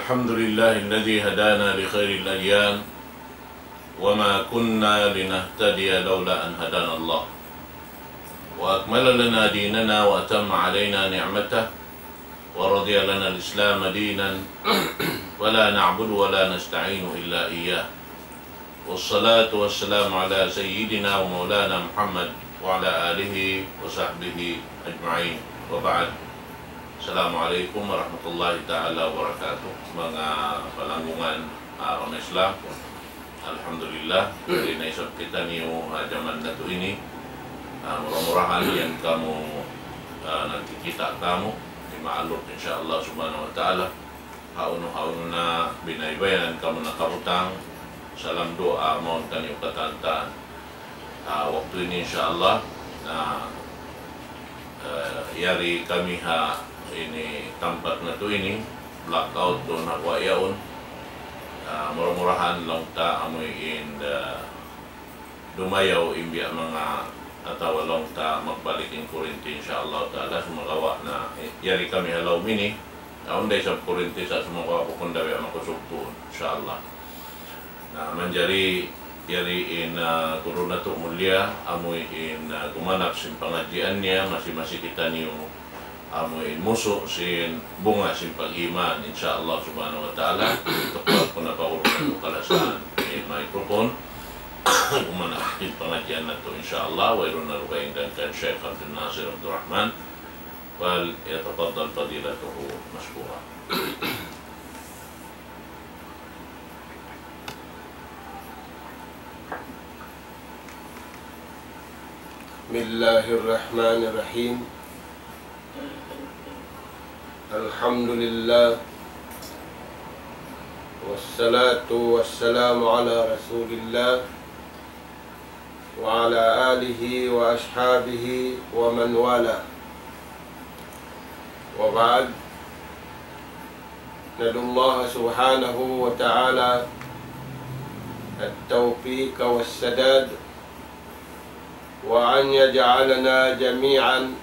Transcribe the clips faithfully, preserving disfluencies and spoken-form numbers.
الحمد لله الذي هدانا لخير الأديان وما كنا لنهتدي لولا أن هدانا الله وأكمل لنا ديننا وأتم علينا نعمته ورضي لنا الإسلام دينا ولا نعبد ولا نستعين إلا إياه. والصلاة والسلام على سيدنا ومولانا محمد وعلى آله وصحبه أجمعين. وبعد. السلام عليكم ورحمة الله تعالى وبركاته. Manga palanggungan, ah, umma Islam. Alhamdulillah, yari na isab kitaniyu ha jaman natu' ini. Ah, mura-murahan yan kamu, ah, nagkikita' kamu, di' maaluk, insya Allah subhanahu wa ta'ala. Hawnu-hawnu na biyaybayan kamu nakabutang, salam duwaa mawn taniyu katantan. Ah, waktu ini insya Allah, na, eh, yari kami ha ini tampat natu' ini, blackout duun ha guwa' yaun. Ah, mura-murahan laung ta amuin, eh, dumayaw in biya' manga atawa laung ta magbalik in kurinti, insya Allah ta'ala, sumagawa' na, eh, yari kami ha lawm ini, awn da isab kurinti sa' sumagawa' bukun da biya' makusug tuud, insya Allah. Na, manjari yari in, ah, guru natu' mulia, amuin, ah, gumanap sin pangadjian niya, masi-masi kitaniyu amuin musu' sin bunga sin pag-iman, insya Allah subhanahu wa ta'ala. Tukbal ku na pa guru natu' kalasahan in microphone. Gumanap in pangadjian natu', insya Allah. Wayruun na dugaing kan Sheikh Abdul Nasir Abdul Rahman. فليتفضل فضيلته مشكورا. بسم الله الرحمن الرحيم. الحمد لله، والصلاة والسلام على رسول الله، وعلى آله وأصحابه ومن والاه. وبعد، ندعو الله سبحانه وتعالى التوفيق والسداد، وأن يجعلنا جميعا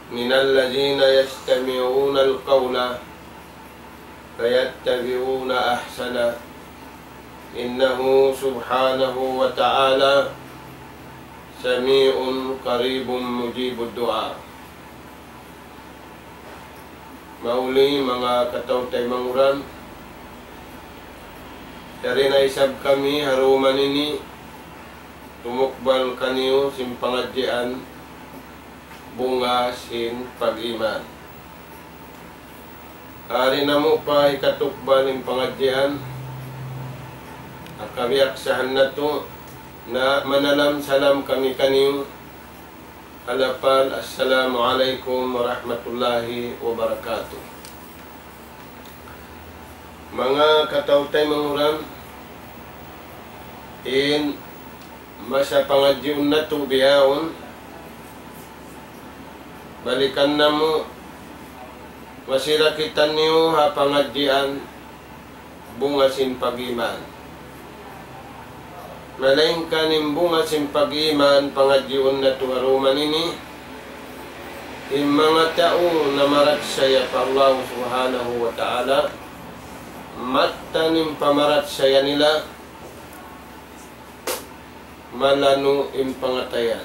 من الذين يستمعون القول فيتبعون أحسنه، إنه سبحانه وتعالى سميع قريب مجيب الدعاء. Mahuli manga kataw-taymanghuran, yari na isab kami ha dum ini tumukbal kaniyu sin pangadjian bunga sin pag-iman. Yari namu' pa hikatukbal in pangadjian, ha kabiyaksahan natu' na manalam salam kami kaniyu, ha lapal Assalamu alaykum warahmatullahi wabarakatuh. Manga kataw-taymanghuran, in masa pangadjiun natu' bihaun, balikan namu', masi ra kitaniyu ha pangadjian bunga sin pag-iman. Malaingkan in bunga sin pag-iman pangadjiun natu' ha dum ini, in manga tau namarachaya pa Allah Subhanahu wa Ta'ala, mattan in pamarachaya nila, malanu' in pangatayan.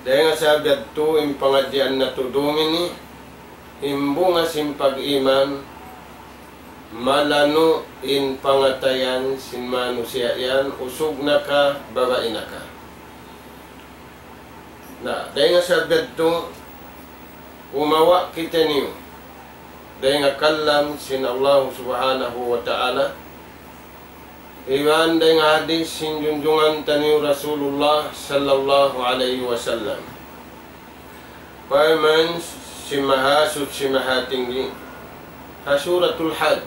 Dayn ha sabab yadtu in pangadjian natu' dum ini, in bunga sin pag-iman, malanu' in pangatayan sin manusiya' yan, usug na ka, babai na ka. Na, dayn ha sabab yadtu, kumawa' kitaniyu dayn ha kalam sin Allah Subhanahu wa Ta'ala, iban dayn ha hadith sin junjungan taniyu Rasulullah sallallahu alayhi wasallam. Parman sin Mahasuchi Mahatinggi, ha Suratul Hajj,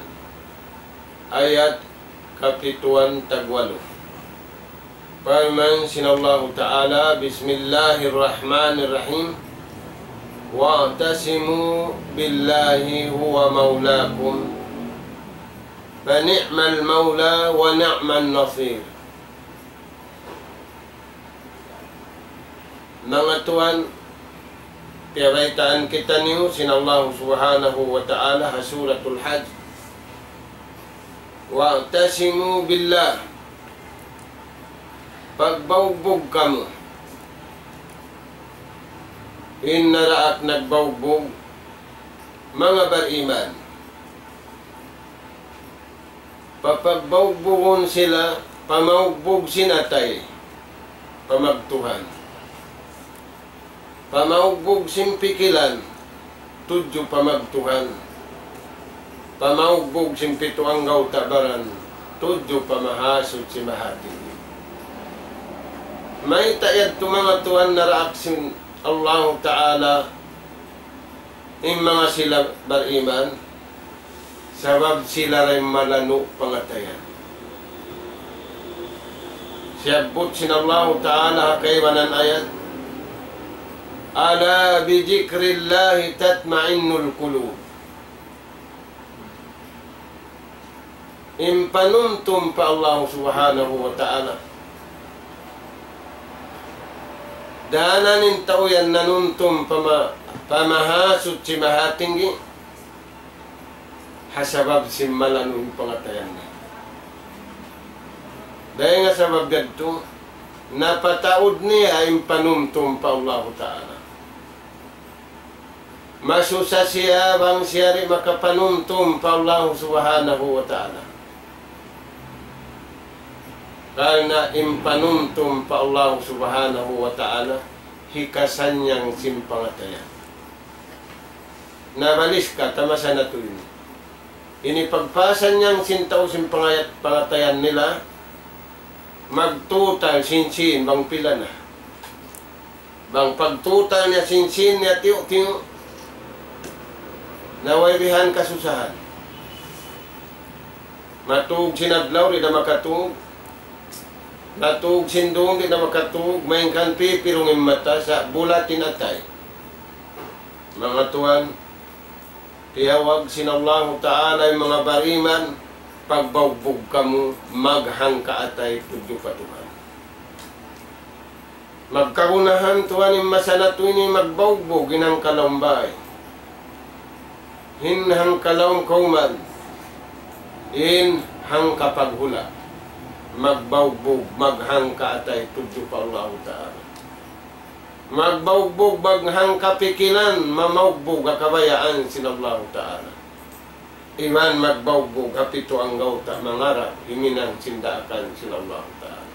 ayat kapituan tagwalu. Parman sin Allahu Ta'ala, بسم الله الرحمن الرحيم. واعتصموا بالله هو مولاكم فنعم المولى ونعم النصير. Manga tuwan, Piyabaytaan kitaniyu sin Allahu Subhanahu wa Ta'ala ha Suratul Hajj. وَاعْتَصِمُوا بِاللَّهِ. Pagbaugbug kamu. In naraak nagbaugbug, manga bariman. Papagbaubugun sila, pamaugbug sin atay, pa magtuhan. Pamaugbug sin pikilan, tudju pa magtuhan. Pamaugbug sin pitu anggawta' baran, tudju pa Mahasuchi Mahatinggi. Mayta' yadtu manga tuwan naraak sin Allahu Ta'ala, in manga sila bariman, sabab sila ra in malanu' pangatayan. Siyabbut sin Allahu Ta'ala ha kaibanan ayat, أَلَا بِذِكْرِ اللَّهِ تَطْمَئِنُّ الْقُلُوبُ. In panumtum pa Allahu Subhanahu wa Ta'ala. Daran in tau yan nanumtum pa ma-, pa Mahasuchi Mahatinggi, ha sabab sin malanu' in pangatayan niya. Dayn ha sabab yadtu, napataud niya in panumtum pa Allahu Ta'ala. Masusa siya bang siya di' makapanumtum pa Allahu Subhanahu wa Ta'ala. Karna' in panumtum pa Allahu Subhanahu wa Ta'ala, hikasannyang sin pangatayan. Nabalis ka, tamasa na tuud ini. Ini pagpasannyang sin tau sin pangayat, pangatayan nila, magtutal sin sin bang pila na. Bang pagtutal niya sin sin niya tiyu'-tiyu', na way bihan kasusahan. Matug sin adlaw, di' na makatug. Matug sin dum, di' na makatug. Malayngkan pipirung in mata, sa' bulat in atay. Manga tuwan, tiyawag sin Allahu Ta'ala in manga bariman, pagbaugbug kamu, maghangka atay tudju pa Tuhan. Magkagunahan tuwan in masa natu' ini magbaugbug in hangka lawm bay. In hangka lawm kawman, in hangka paghula'. Magbaugbug, maghangka atay tudju pa Allahu Ta'ala. Magbaugbug, maghangka pikilan, mamaugbug ha kabayaan sin Allahu Ta'ala. Iban magbaugbug ha pitu anggawta' mangarap himinang sin daakan sin Allahu Ta'ala.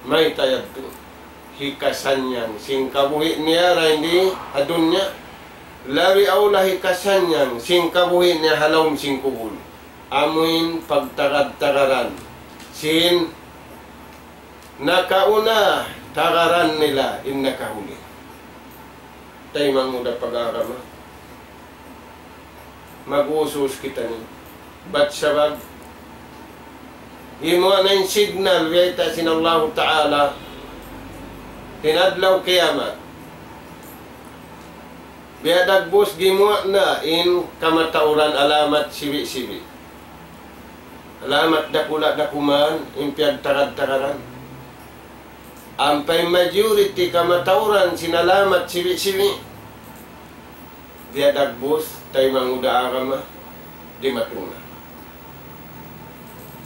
Mayta' yadtu? Hikasannyang sin kabuhi' niya dayn di ha dunya. Labi awla hikasannyang sin kabuhi' niya ha lawm sin kubul. Amuin pagtagad-tagaran sin nakauna, tagaran nila in nakahuli. Taymanghud ha pag-agama. Mag-usus kitaniyu. Bat sabab, gimuwa' na in signal, biyayta' sin Allahu Ta'ala, in adlaw kiyamat. Biya' dagbus gimuwa' na in kamatauran alamat sibi'-sibi'. Alamat dakula' da kuman in piyagtagad-tagaran. Ampa in majority kamatauran sin alamat sibi'-sibi'. Biya' dagbus, taymanghud ha agama, dimatung na.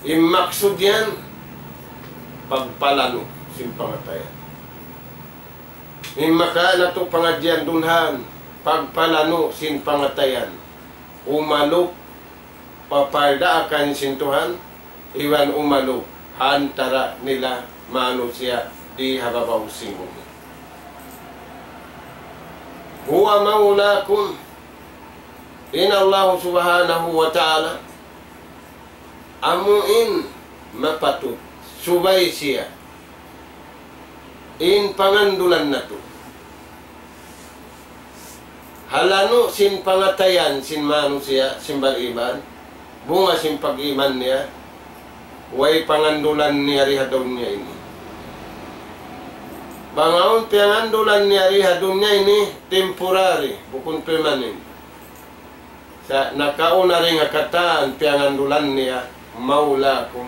In maksud yan, pagpalanu' sin pangatayan. In makawa' natu' pangadjian dunhan, pagpalanu' sin pangatayan. Umalup pa pardaakan sin Tuhan, iban umalup ha antara' nila manusiya' di ha babaw sin bumi. هُوَ مَوْلَاكُمْ. In Allah Subhanahu wa Ta'ala, amu in mapatut, subay siya in pangandulan natu'. Ha lanu' sin pangatayan sin manusiya', sin bariman, bunga sin pag-iman niya, way pangandulan niya di ha dunya ini. Bang awn piyangandulan niya di ha dunya ini, temporary, bukun permanent. Sa' nakauna dayn ha katan piyangandulan niya, مَوْلَاكُمْ,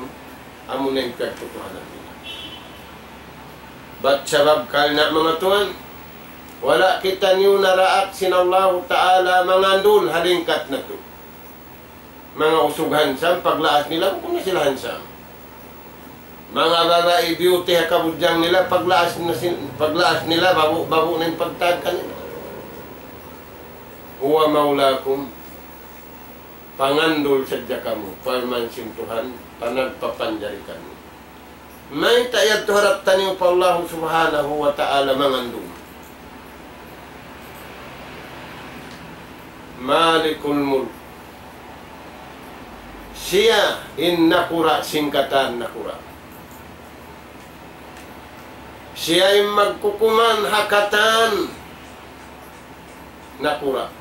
amuna in piyagtutuhanan niya. Bat sabab karna' manga tuwan, Wala' kitaniyu naraak sin Allahu Ta'ala mangandul ha lingkat natu'. Manga usug handsome, paglaas nila, bukun na sila handsome. Manga babai beauty ha kabudjang nila, paglaas na sin-, paglaas nila, babu', babu' na in pagtagka nila. هو مولاكم, pangandul sadja kamu, parman sin Tuhan, panagpapanjari kamu. Mayta' yadtu harap taniyu pa Allahu Subhanahu wa Ta'ala mangandul? مالك الملك. Siya in nakura' sin katan nakura'. Siya in magkukuman ha katan nakura'.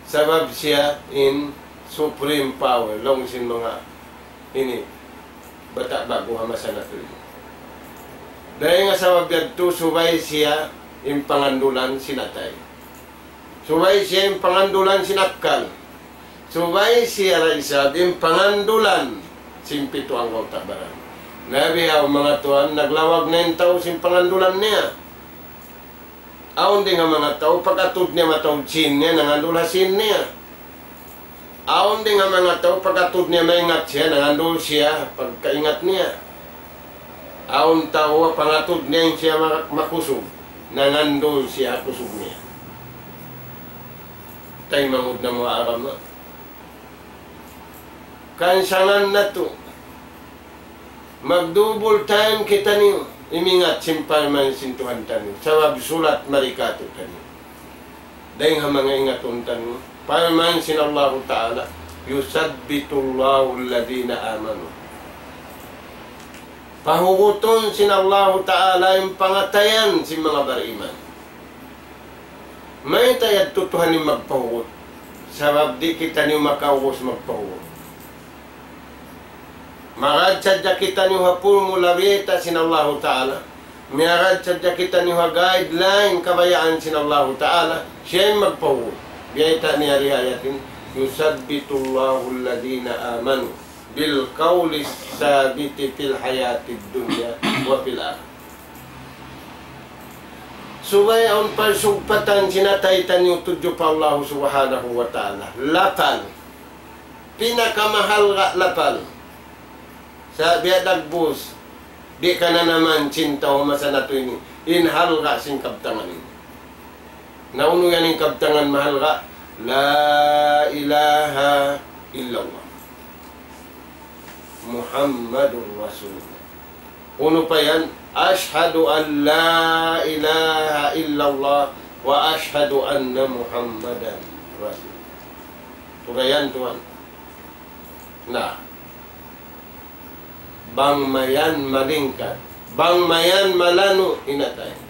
Sabab siya in supreme power, laung sin manga ini, bata' ba'gu ha masa natu' ini. Dayn ha sabab yadtu, subay siya in pangandulan sin atay. Subay siya in pangandulan sin akkal. Subay siya da isab in pangandulan sin pitu anggawta' baran. Labi awn manga tuwan, naglawag na in tau sin pangandulan niya. Awn dayn ha manga tau, pag-atud niya mataud sīn niya, nangandul ha sīn niya. Awn dayn ha manga tau, pag-atud niya maingat siya, nangandul siya pagkaingat niya. Awn tau, pag-atud niya in siya ma-, makusug, nangandul siya kusug niya. Taymanghud namu' ha agama. Kansangan natu'. Mag-double time kitaniyu, imingat sin parman sin Tuhan taniyu, sabab sulat mari kātu'niyu. Dayn ha manga ingatun taniyu, parman sin Allahu Ta'ala, يثبت الله الذين آمنوا. Pahugutun sin Allahu Ta'ala in pangatayan sin manga bariman. Mayta' yadtu Tuhan in magpahugut? Sabab di' kitaniyu makaubus magpahugut. Miyagad sadja kitaniyu ha pulmu labita sin Allahu Ta'ala. Miyagad sadja kitaniyu ha guideline kabayaan sin Allahu Ta'ala. Siya in magpahugut. Biyayta' niya di ha ayat ini, يثبت الله الذين آمنوا بالقول الثابت في الحياة الدنيا وفي الآخرة. Subay awn pagsugpatan sin atay taniyu tudju pa Allahu Subhanahu wa Ta'ala. Lapal. Pinakamahalga' lapal. Sa' biya' dagbus, di' kananaman sin tau masa natu' ini, in halga' sin kabtangan ini. Na unu yan in kabtangan mahalga'? لا إله إلا الله محمد رسول الله. Unu pa yan? أشهد أن لا إله إلا الله وأشهد أن محمدا رسول الله. Turayan tuwan. Na. Bang mayan malingkat. Bang mayan malanu' in atay.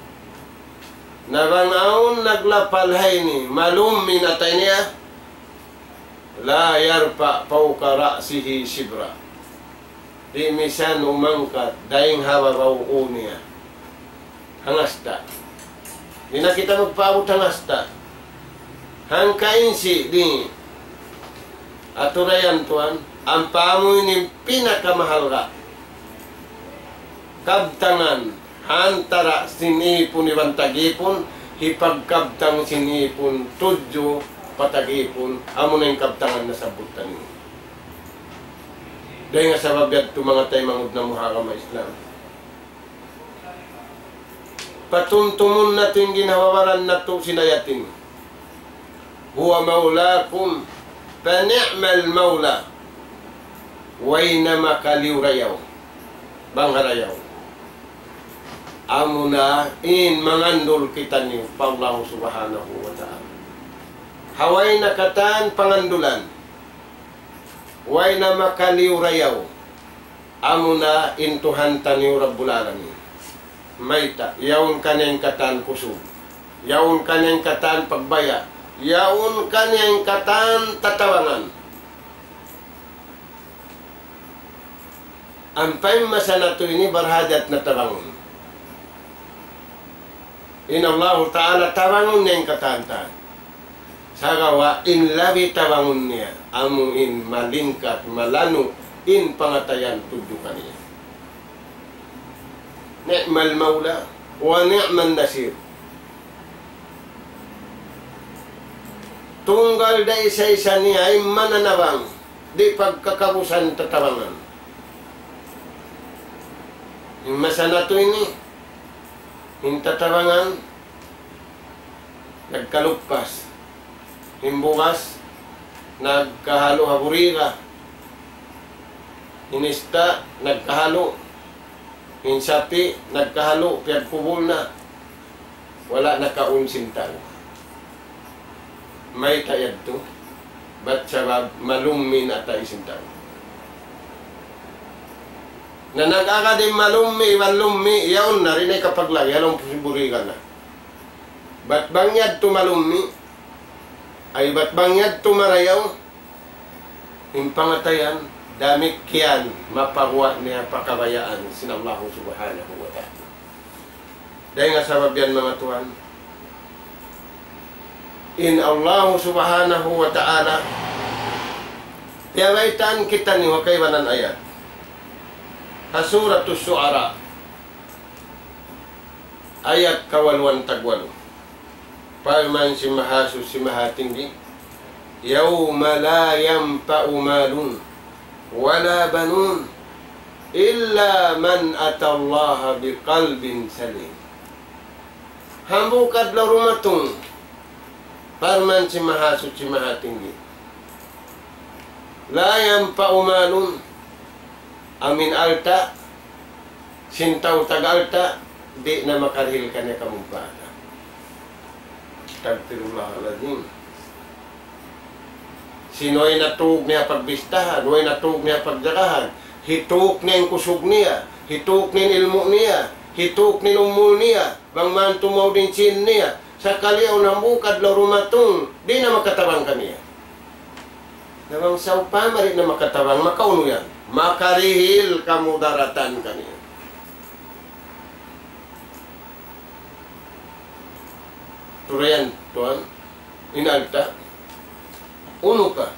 Na bang awn naglapal ha ini, malum in atay niya. لا يرفع فوق رأسه شبرا. Di' misan umangkat dayn ha babaw ū niya hangasta'. Di' na kita magpaabut hangasta'. Hangka insi' di'. Aturayan tuwan, ampa amu ini pinakamahalga' kabtangan ha antara' sin ipun iban tag-ipun, hipagkabtang sin ipun tudju pa tag-ipun, amuna in kabtangan nasabbut taniyu. Dayn ha sabab yadtu manga taymanghud namu' ha agama Islam. Patumtumun natu' in ginhawa-baran natu' sin ayat ini. هو مولاكم فنعم المولى. Way na makaliyu rayaw. Bang ha rayaw. Amuna in mangandul kitaniyu pa Allahu Subhanahu wa Ta'ala. Ha way na katan pangandulan. Way na makaliyu rayaw. Amuna in Tuhan taniyu Rabbul Alamin. Mayta', yaun kaniya in katan kusug. Yaun kaniya in katan pagbaya'. Yaun kaniya in katan tatabangan. Ampa in masa natu' ini barhajat na tabangun. In Allahu Ta'ala tabangun niya in katan-katan. Sagawa' in labi tabangun niya, amu in malingkat, malanu', in pangatayan tudju kaniya. نعم المولى ونعم النصير. Tunggal da isa-isa niya in mananabang, di' pagkakausan tatabangan. In masa natu' ini, in tatabangan nagkaluppas, in bugas nagkahalu' ha buriga, in ista' nagkahalu', in sapi' nagkahalu', piyagkubul na. Wala' nakaun sin tau. Mayta' yadtu? Bat sabab malummi' in atay sin tau. Na nag-agad in malummi', iban lummi', yaun na, di' na ikapaglagi', ha lawm sin buriga na. Bat bang yadtu malummi', ay bat bang yadtu marayaw, in pangatayan, damikkiyan mapaguwa' niya pa kabayaan sin Allahu Subhanahu wa Ta'ala. Dayn ha sabab yan, manga tuwan, in Allahu Subhanahu wa Ta'ala, piyabaytaan kitaniyu ha kaibanan ayat. Ha Suratus Shu'ara, ayat kawaluan tagwalu. Parman sin Mahasuchi Mahatinggi, يوم لا ينفع مال ولا بنون إلا من أتى الله بقلب سليم. Hambuuk adlaw dumatung, parman sin Mahasuchi Mahatinggi, لا ينفع مال, amu in alta', sin tau tag-alta', di' na makarihil kaniya kamumpaatan. Astagfirullahalazim. Sin way natug niya pagbistahan, way natug niya pagjagahan, hituk niya in kusug niya, hituk niya in ilmu' niya, hituk niya in umul niya, bang man tumaud in sin niya, sakali awn hambuuk adlaw dumatung, di' na makatabang kaniya. Na bang sawpama di' na makatabang, makaunu yan? Makarihil kamudaratan kaniya. Turayan, tuwan, in alta'. Unu pa?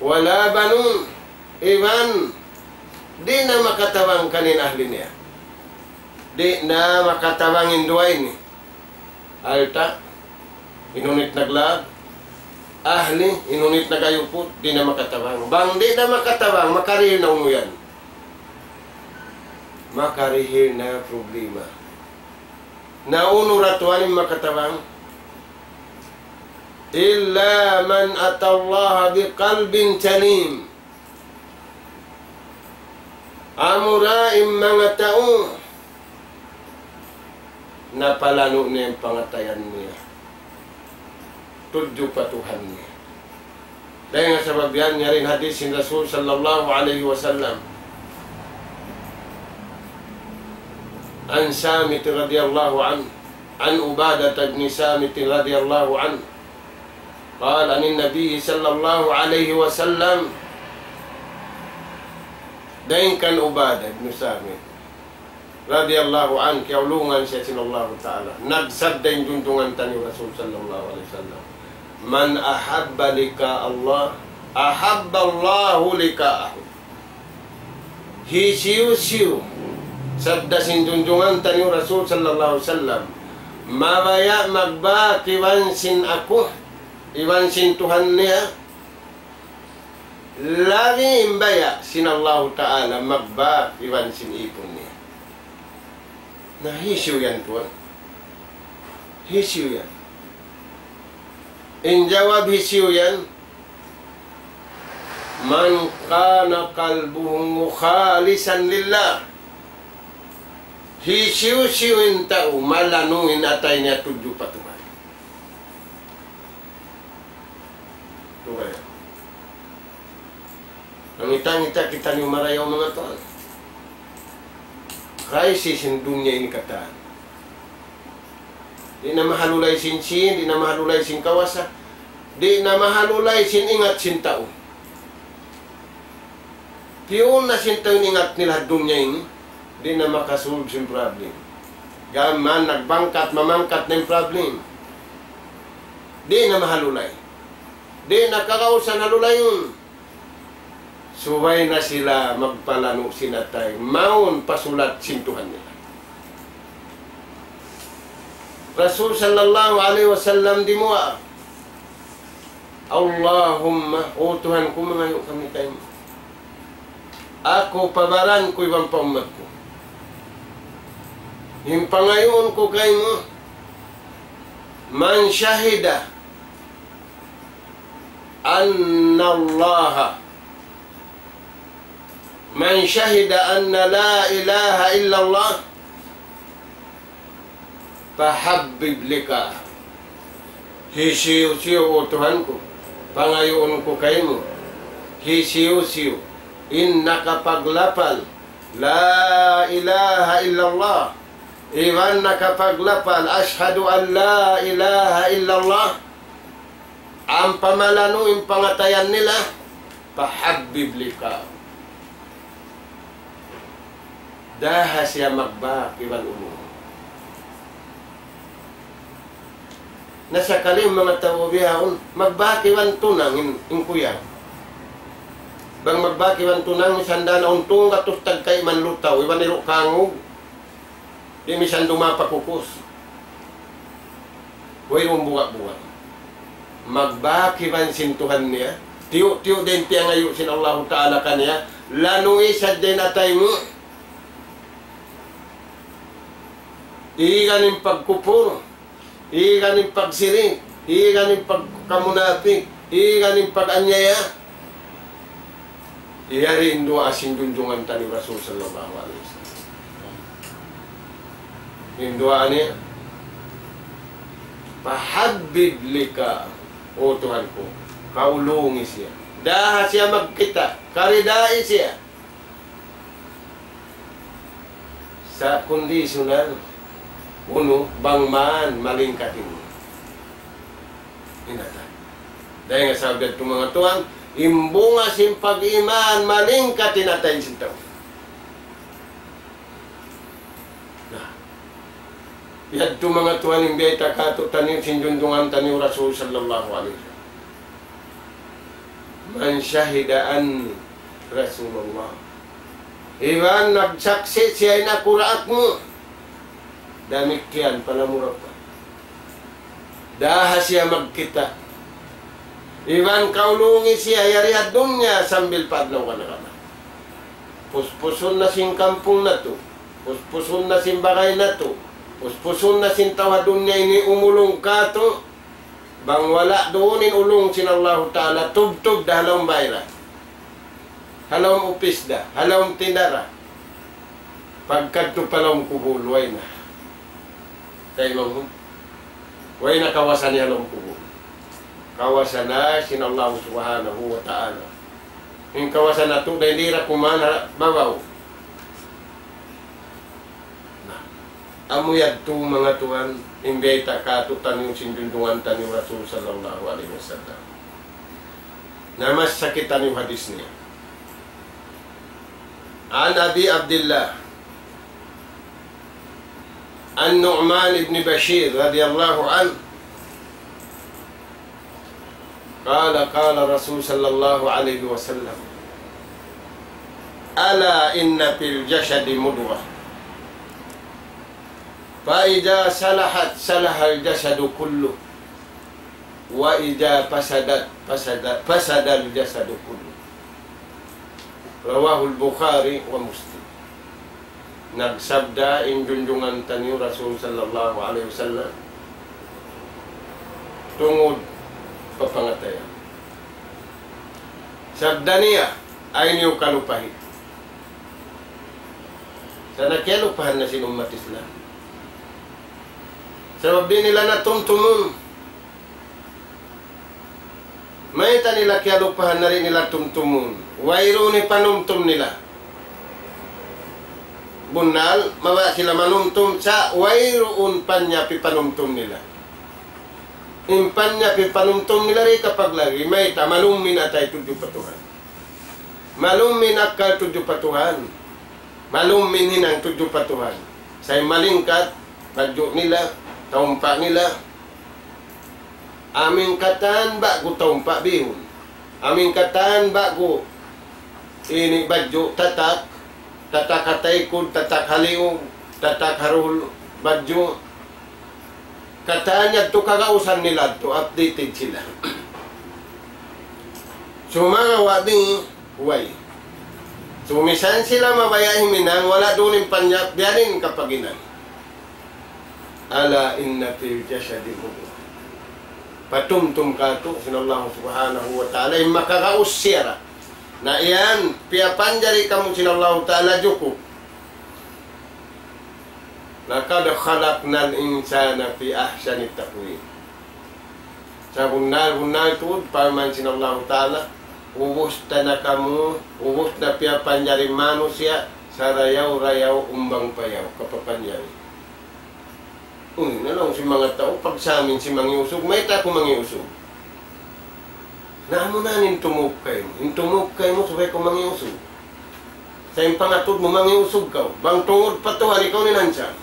ولا بنون, iban di' na makatabang kaniya in ahli niya. Di' na makatabang in duwa ini. Alta', in hunit naglaag, ahli, in hunit nagayuput, di' na makatabang. Bang di' na makatabang, makarihil na unu yan? Makarihil na problema. Na unu ra tuwan in makatabang? إلا من أتى الله بقلب سليم. Amura in manga tau napalanu' niya in pangatayan niya tudju pa Tuhan niya. Dayn ha sabab yan, yari in hadith sin Rasul sallallahu alayhi wasallam. عن سامت رضي الله عنه، عن عبادة بن سامت رضي الله عنه، قال عن النبي صلى الله عليه وسلم. Dayn kan Ubadah ibn Samit, radiyallahu anhu, kiyaulungan siya sin Allahu Ta'ala. Nagsabda in junjungan taniyu Rasul sallallahu alayhi wasallam, من أحب لقاء الله أحب الله لقاءه. Hisiyu-siyu, sabda sin junjungan taniyu Rasul sallallahu alayhi wasallam, mabaya' magbak iban sin aku, iban sin Tuhan niya, labi in baya' sin Allahu Ta'ala magbak iban sin ipun niya. Na hisiyu yan tuwan? Hisiyu yan? In jawab hisiyu yan, من كان قلبه خالصا لله. Hisiyu-siyu in tau malanu' in atay niya tudju pa Tuhan. Tuhan. Mangita-ngita kitaniyu marayaw manga tuwan. Crisis in dunya ini katan. Di' na mahalulay sin sīn, di' na mahalulay sin kawasa, di' na mahalulay sin ingat sin tau. Piyun na sin tau in ingat nila ha dunya ini, di' na makasolve sin problem. Gām mayan nagbangkat, mamangkat na in problem. Di' na mahalulay. Di' na kagausan halulayun. Subay na sila magpalanu' sin atay, mawn pa sulat sin Tuhan nila. Rasul sallallahu alayhi wasallam dimuwaa. Allahumma, O Tuhan ku, mangayu' kami kaymu. Aku pa baran ku iban pa ummat ku. In pangayuun ku kaymu, من شهد أن الله من شهد أن لا إله إلا الله فحبب لقاءه. Hisiyu-siyu, O Tuhan ku, pangayuun ku kaymu, hisiyu-siyu in nakapaglapal لا إله إلا الله, iban nakapaglapal أشهد أن لا إله إلا الله, ampa malanu' in pangatayan nila, فحبب لقاءه. Daha siya magbak iban ulung. Na sakali manga tau bihaun, magbak iban tunang in, in kuyaw. Bang magbak iban tunang, misan da na untung gatus tagkay man lutaw, iban iru' kangug. Di' misan dumapa kukus. Wayruun buga'-buga'. Magbak iban sin Tuhan niya. Tiyu'-tiyu' da in tiyangayu' sin Allahu Ta'ala kaniya. Lanu'i sadja in atay mu. Igan in pagkupur. Igan in pagsirik, igan in pagkamunapik, igan in pag-anyaya. Yari in duwaa sin junjungan taniyu Rasul sallallahu alayhi wasallam. In duwaa niya, فحبب لقاءه, O Tuhan ku, kaulungi siya. Daha siya magkita', karidai siya. Sa' conditional, unu, bang man malingkat in, in atay. Dayn ha sabab yadtu manga tuwan, in bunga sin pag-iman, malingkat in atay sin tau. Na, yadtu manga tuwan in biyayta' kātu'niyu sin junjungan taniyu Rasul sallallahu alayhi wasallam. من شهد أني رسول الله. Iban nagsaksi' siya in aku daak mu. Damikkiyan pa lamura pa. Daha siya magkita'. Iban kaulungi siya yari ha dunya sambil pa adlaw kana-kana. Puspusun na sin kampung natu'. Puspusun na sin bagay natu'. Puspusun na sin tau ha dunya ini umulung kātu'. Bang wala' duun in ulung sin Allahu Ta'ala, tubtub da ha lawm bay ra, ha lawm upis da, ha lawm tinda ra. Pagkadtu pa lawm kubul, way na. Kay manghu-, way na kawasa niya ha lawm kubul. Kawasa na sin Allah Subhanahu wa Ta'ala. In kawasa natu' dayn di ra kuman ha babaw. Na, amu yadtu manga tuwan, in biyayta' kātu'niyu sin junjungan taniyu Rasul sallallahu alayhi wasallam. Na, masa kitaniyu hadis niya. عن أبي عبد الله النعمان بن بشير رضي الله عنه قال، قال رسول صلى الله عليه وسلم، ألا إن في الجسد مضغة، فإذا صلحت صلح الجسد كله، وإذا فسدت فسد، فسد الجسد كله. رواه البخاري ومسلم. Nagsabda in junjungan taniyu Rasul sallallahu alayhi wasallam tungud pa pangatayan. Sabda niya, ayaw niyu kalupahi. Sa' na kiyalupahan na sin ummat Islam. Sabab di' nila na tumtumun. Mayta' nila kiyalupahan na di' nila tumtumun? Wayruun hipanumtum nila. Bunnal, mabaya' sila manumtum, sa' wayruun panyap hipanumtum nila. In panyap hipanumtum nila di' kapaglagi', mayta', malum in atay tudju pa Tuhan. Malum in akkal tudju pa Tuhan. Malum in hinang tudju pa Tuhan. Sa' in malingkat, badju' nila, taumpa' nila. Amu in katan ba'gu taumpa' bihun. Amu in katan ba'gu ini badju' tatak, tatak ha taykud, tatak ha liug, tatak ha duhul badju'. Katan yadtu kagausan nila yadtu, updated sila. Sumagawa' di', way. Sumisan sila mabaya' himinang, wala' duun in panyap, biya' diin kapaginan. ألا إن في الجسد مضغة. Patumtum katu' sin Allah Subhanahu wa Ta'ala, in makagaus siya ra. Na yan, piyapanjari kamu sin Allah Ta'ala jukup. لقد خلقنا الإنسان في أحسن تقويم. Sabunnal-bunnal tuud, parman sin Allahu Ta'ala, ubus ta na kamu, ubus na piyapanjari manusiya', sarayaw-rayaw, umbang-payaw, kapapanjari. Uy, na laung sin manga tau, pagsamin sin mangi' usug, mayta' aku mangi' usug? Na amu na in tumug kaymu, in tumug kaymu subay kaw mangi' usug. Sa' in pangatud mu mangi' usug kaw, bang tungud pa Tuhan ikaw in answer.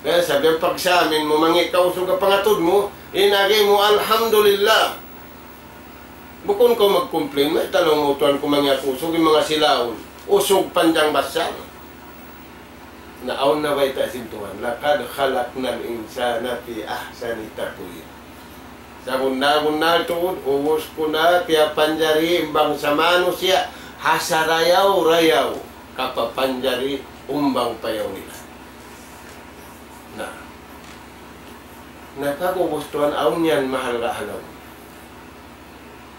Kaya sabab pagsamin mu mangi' kaw usug ha pangatud mu, in agi mu, "Alhamdulillah." Bukun kaw mag-complain, "Mayta' laung mu Tuhan ku mangi' aku usug, in manga silaun, usug panjang basal." Na awn na bayta' sin Tuhan, لقد خلقنا الإنسان في أحسن تقويم. Sabunnal-bunnal tuud, ubus ku na piyapanjari in bangsa manusiya' ha sarayaw-rayaw kapapanjari, umbang-payaw nila. Na. Na pag-ubus tuwan, awn yan mahalga' ha lawm.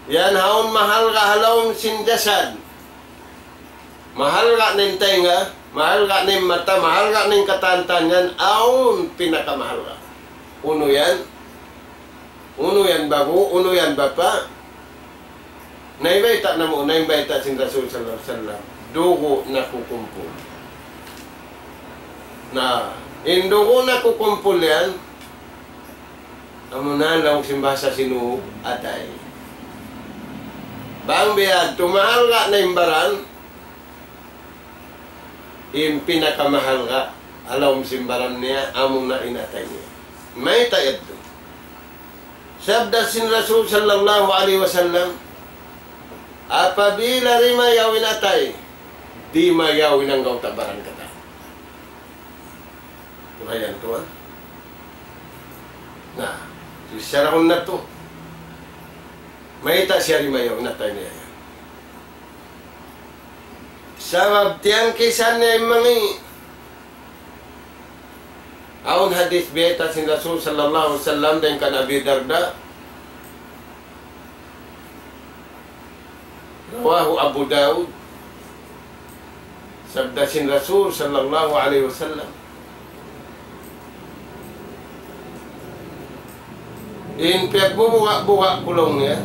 Yan awn mahalga' ha lawm sin jasad. Mahalga' na in taynga, mahalga' na in mata, mahalga' na in katan-katan yan, awn pinakamahalga'. Unu yan? Unu yan babu', unu yan bapa'? Naibayta' namu', naibayta' sin Rasul sallallahu alayhi wasallam, dugu' nakukumpul. Na, in dugu' nakukumpul yan, amu na laung sin bahasa Sinug, atay. Bang biya' yadtu mahalga' na in baran, in pinakamahalga' ha lawm sin baran niya, amu na in atay niya. Mayta' yadtu? Sabda sin Rasul sallallahu alayhi wasallam, apabila dimayaw in atay, dimayaw in anggawta' baran katan. Kurayan tuwan. Na, sisarahun natu'. Mayta' siya dimayaw in atay niya yan? Sabab tiyangkisan niya in mangi'. Awn hadith bayta' sin Rasul sallallahu alayhi wasallam dayn kan Abi Darda. رواه أبو داود. Sabda sin Rasul sallallahu alayhi wasallam, in piyagbubuga'-buga' ku laung niya,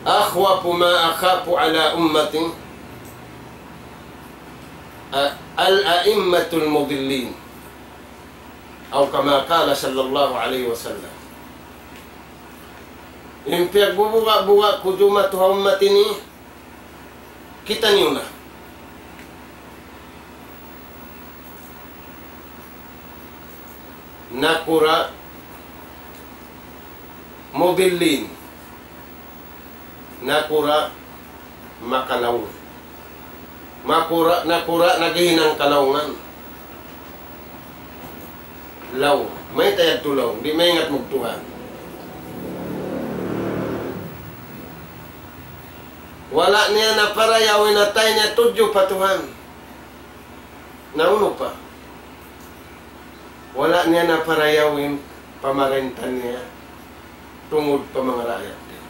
أخوف ما أخاف على أمتي الأئمة المضلين. أو كما قال صلى الله عليه وسلم. In piyagbubuga'-buga' ku jumatu ha ummat ini, kitaniyu na. Nakura' mudillin. Nakura' makalaung. Makura', nakura' naghihinang kalaungan. Laung. Mayta' yadtu laung? Di' maingat magtuhan. Wala' niya naparayaw in atay niya tudju pa Tuhan. Na unu pa? Wala' niya naparayaw in pamarinta niya tungud pa manga raayat niya.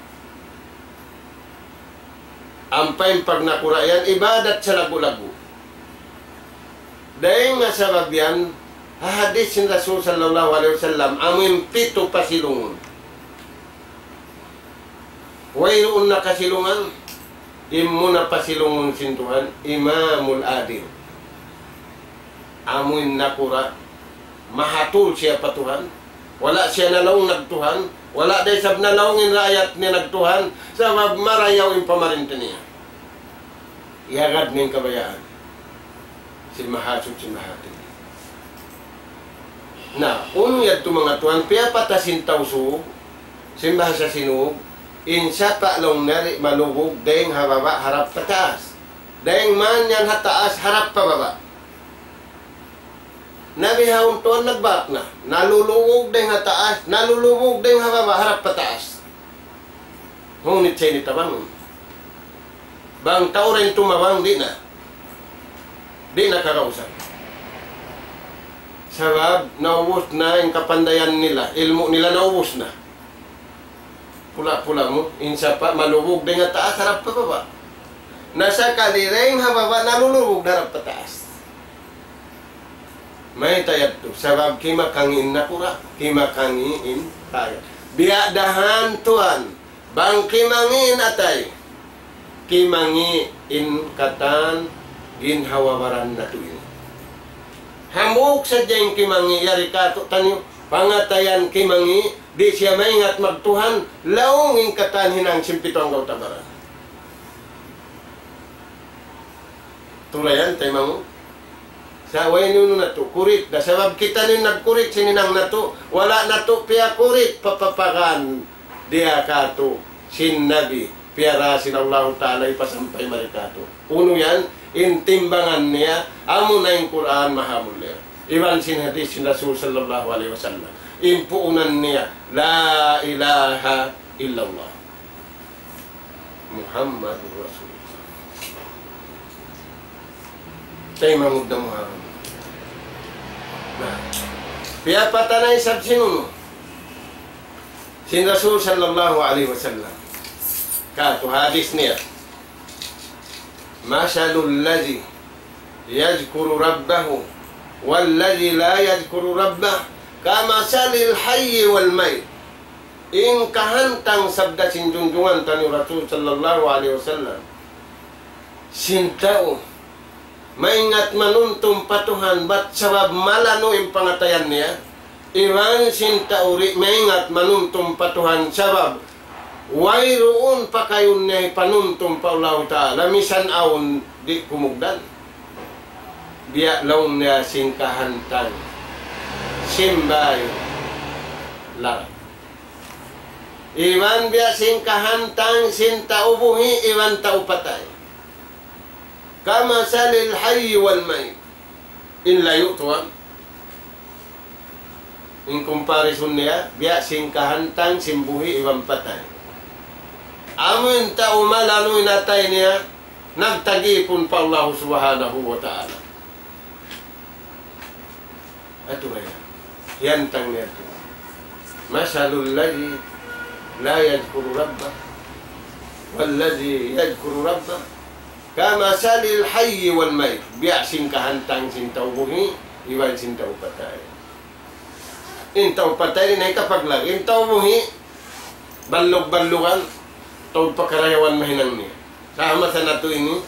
Ampa in pagnakura' yan, ibadat salaggu'-laggu'. Dayn ha sabab yan, ha hadith sin Rasul sallallahu alayhi wasallam, amu in pitu pasilungun. Wayruun na kasilungan, in muna pasilungun sin Tuhan, Imamul Adil. Amu in nakura', mahatul siya pa Tuhan, wala' siya nalaung nagtuhan, wala' da isab nalaung in raayat niya nagtuhan, sabab marayaw in pamarinta niya. Iyagad niya in kabayaan sin Mahasuchi Mahatinggi. Na, unu yadtu manga tuwan, piyapata sin Tausug, sin bahasa Sinug, in sapa' laung niya di' malugug dayn ha baba' harap pa taas. Dayn man yan ha taas harap pa baba'. Na bihaun tuwan nagbak na. Nalulubug dayn ha taas, nalulubug dayn ha baba', harap pa taas. Ngunit sa' ini tabangun. Bang tau rin tumabang, di' na. Di' na kagausan. Sabab naubus na in kapandayan nila, ilmu' nila naubus na. Pula-pula mu, in sapa' malubug dayn ha taas harap pa baba'. Na sakali dayn ha baba' nalulubug harap pa taas. Mayta' yadtu, sabab kimakangi' in nakura', kimakangi' in kaya. Biya' da han tuwan, bang kimangi' in atay, kimangi' in katan ginhawa-baran natu' ini. Hambuuk sadja in kimangi' yari kātu'niyu, pangatayan kimangi', di' siya maingat magtuhan, laung in katan hinang sin pitu anggawta' baran. Tulayan, taymanghud. Sa' way nunu natu', kurik da. Sabab kitaniyu in nagkurik sin hinang natu', wala' natu' piyakurik, papapagan diya kātu' sin Nabi, piyara sin Allahu Ta'ala hipasampay mari kātu'. Unu yan, in timbangan niya, amuna in Qur'an mahamulliya. Iban sin hadith sin Rasul sallallahu alayhi wasallam. In puunan niya, La ilaha illallah. Muhammadur Rasulullah. Taymanghud na Muhammad. Na, piyapatana isab sin unu? Sin Rasul sallallahu alayhi wasallam. Kātu' hadith niya. مثل الذي يذكر ربه والذي لا يذكر ربه كمثل الحي والميت. In kahantang sabda sin junjungan taniyu Rasul sallallahu alayhi wasallam. Sin tau maingat manumtum pa Tuhan, bat sabab malanu' in pangatayan niya. Iban sin tau di' maingat manumtum pa Tuhan, sabab wayruun pakayun niya hipanumtum pa Allahu Ta'ala, misan awn di' kumugdan. Biya' laung niya sin kahantang sin bāy larak. Iban biya' sin kahantang sin tau buhi' iban tau patay. كمثل الحي والميت. In layu' tuwan. In comparison niya, biya' sin kahantang sin buhi' iban patay. Amu in tau malanu' in atay niya, nagtagipun pa Allah Subhanahu wa Ta'ala. Atu kaya, hiyantang niya tu. مثل الذي لا يذكر ربه والذي يذكر ربه كمثل الحي والميت. Biya' sin kahantang sin tau buhi' iban sin tau patay. In tau patay di' na hikapaglag. In tau buhi', ballug-ballugan, tau pa karayawan mahinang niya. Sa' masa natu' ini,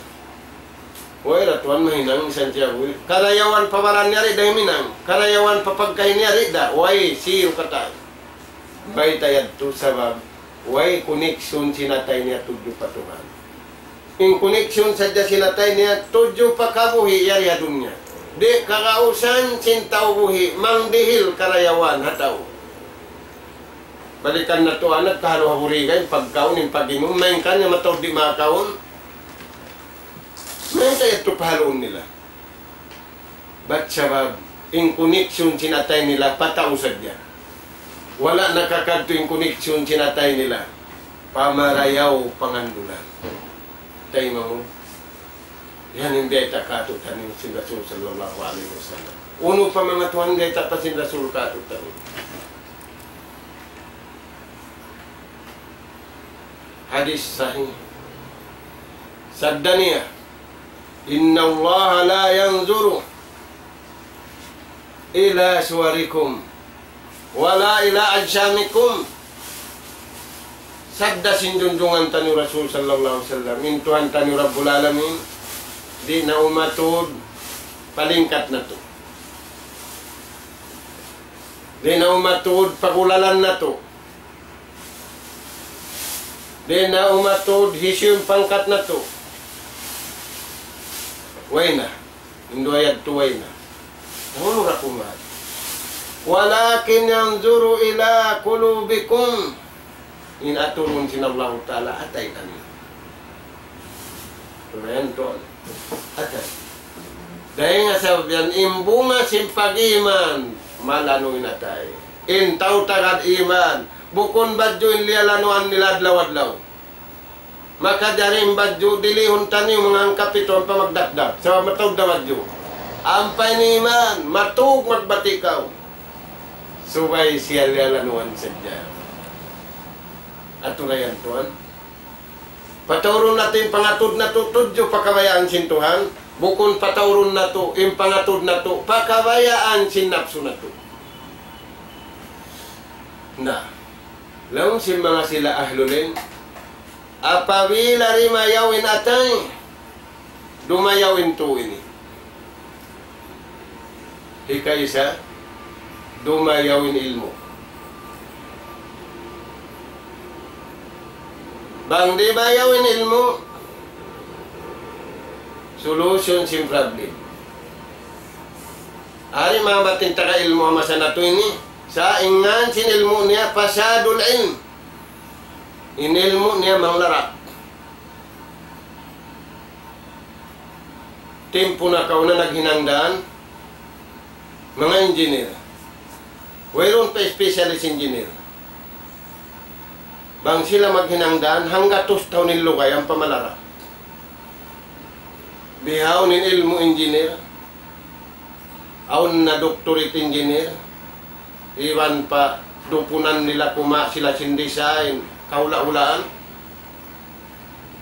way da tuwan mahinang misan siya buhi'. Karayawan pa baran niya di' da himinang. Karayawan pa pagkahi niya di' da. Way, siyu katan. Bayta' yadtu sabab way connection sin atay niya tudju pa Tuhan. In connection sadja sin atay niya tudju pa kabuhi' yari ha dunya. Di' kagausan sin tau buhi' mangdihil karayawan ha tau. Balikan natu' anak kahalu ha buriga, in pagkaun, in pag-inum, malayngkan in mataud di' makakaun. Mayta' yadtu pahaluun nila. Bat sabab, in connection sin atay nila pa tau sadja. Wala' nakakadtu in connection sin atay nila pa marayaw pangandulan. Taymanghud. Yan in biyayta' kātu'niyu sin Rasul sallallahu alayhi wasallam. Unu pa manga tuwan biyayta' pa sin Rasul kātu'niyu. Hadith sahih. Sabda niya, إن الله لا ينظر إلى صوركم ولا إلى أجسامكم. Sabda sin junjungan taniyu Rasul sallallahu alayhi wasallam, in Tuhan taniyu Rabbul Alamin, di' na umatud pa lingkat natu'. Di' na umatud pa gulalan natu'. Di' na umatud hisiyu in pangkat natu'. Way na. In duwa yadtu way na. Unu ra kuman. ولكن ينظر إلى قلوبكم. In aturun sin Allahu Ta'ala atay taniyu. Kumayan tuwan. Atay. Dayn ha sabab yan in bunga sin pag-iman, malanu' in atay. In tau tagad iman, bukun badju' in liyalanuan nila adlaw-adlaw. Makajari in badju', dilihun taniyu manga hangkapitu ampa magdakdak. Sabab mataud na badju'. Ampa in iman, matug magbati' kaw. Subay siya liyalanuan sadja. Atura yan, tuwan. Pataurun natu' in pangatud natu' tudju pa kabayaan sin Tuhan, bukun pataurun natu' in pangatud natu' pa kabayaan sin napsu natu'. Na, laung sin manga sila ahlul ilm, apabila dimayaw in atay, dumayaw in tuu ini. Hikaisa, dumayaw in ilmu'. Bang dimayaw in ilmu', solution sin problem. Ari manga batin taga ilmu' ha masa natu' ini, sa' in ngan sin ilmu' niya fasadul ilm. In ilmu' niya manglarak. Timpu nakauna naghinang dan, manga engineer. Wayruun pa specialist engineer. Bang sila maghinang dan, hanggatus tahun in lugay ampa malarak. Bihaun in ilmu' engineer, awn na doctorate engineer, iban pa dupunan nila kuma' sila sin design, kahula'-hulaan.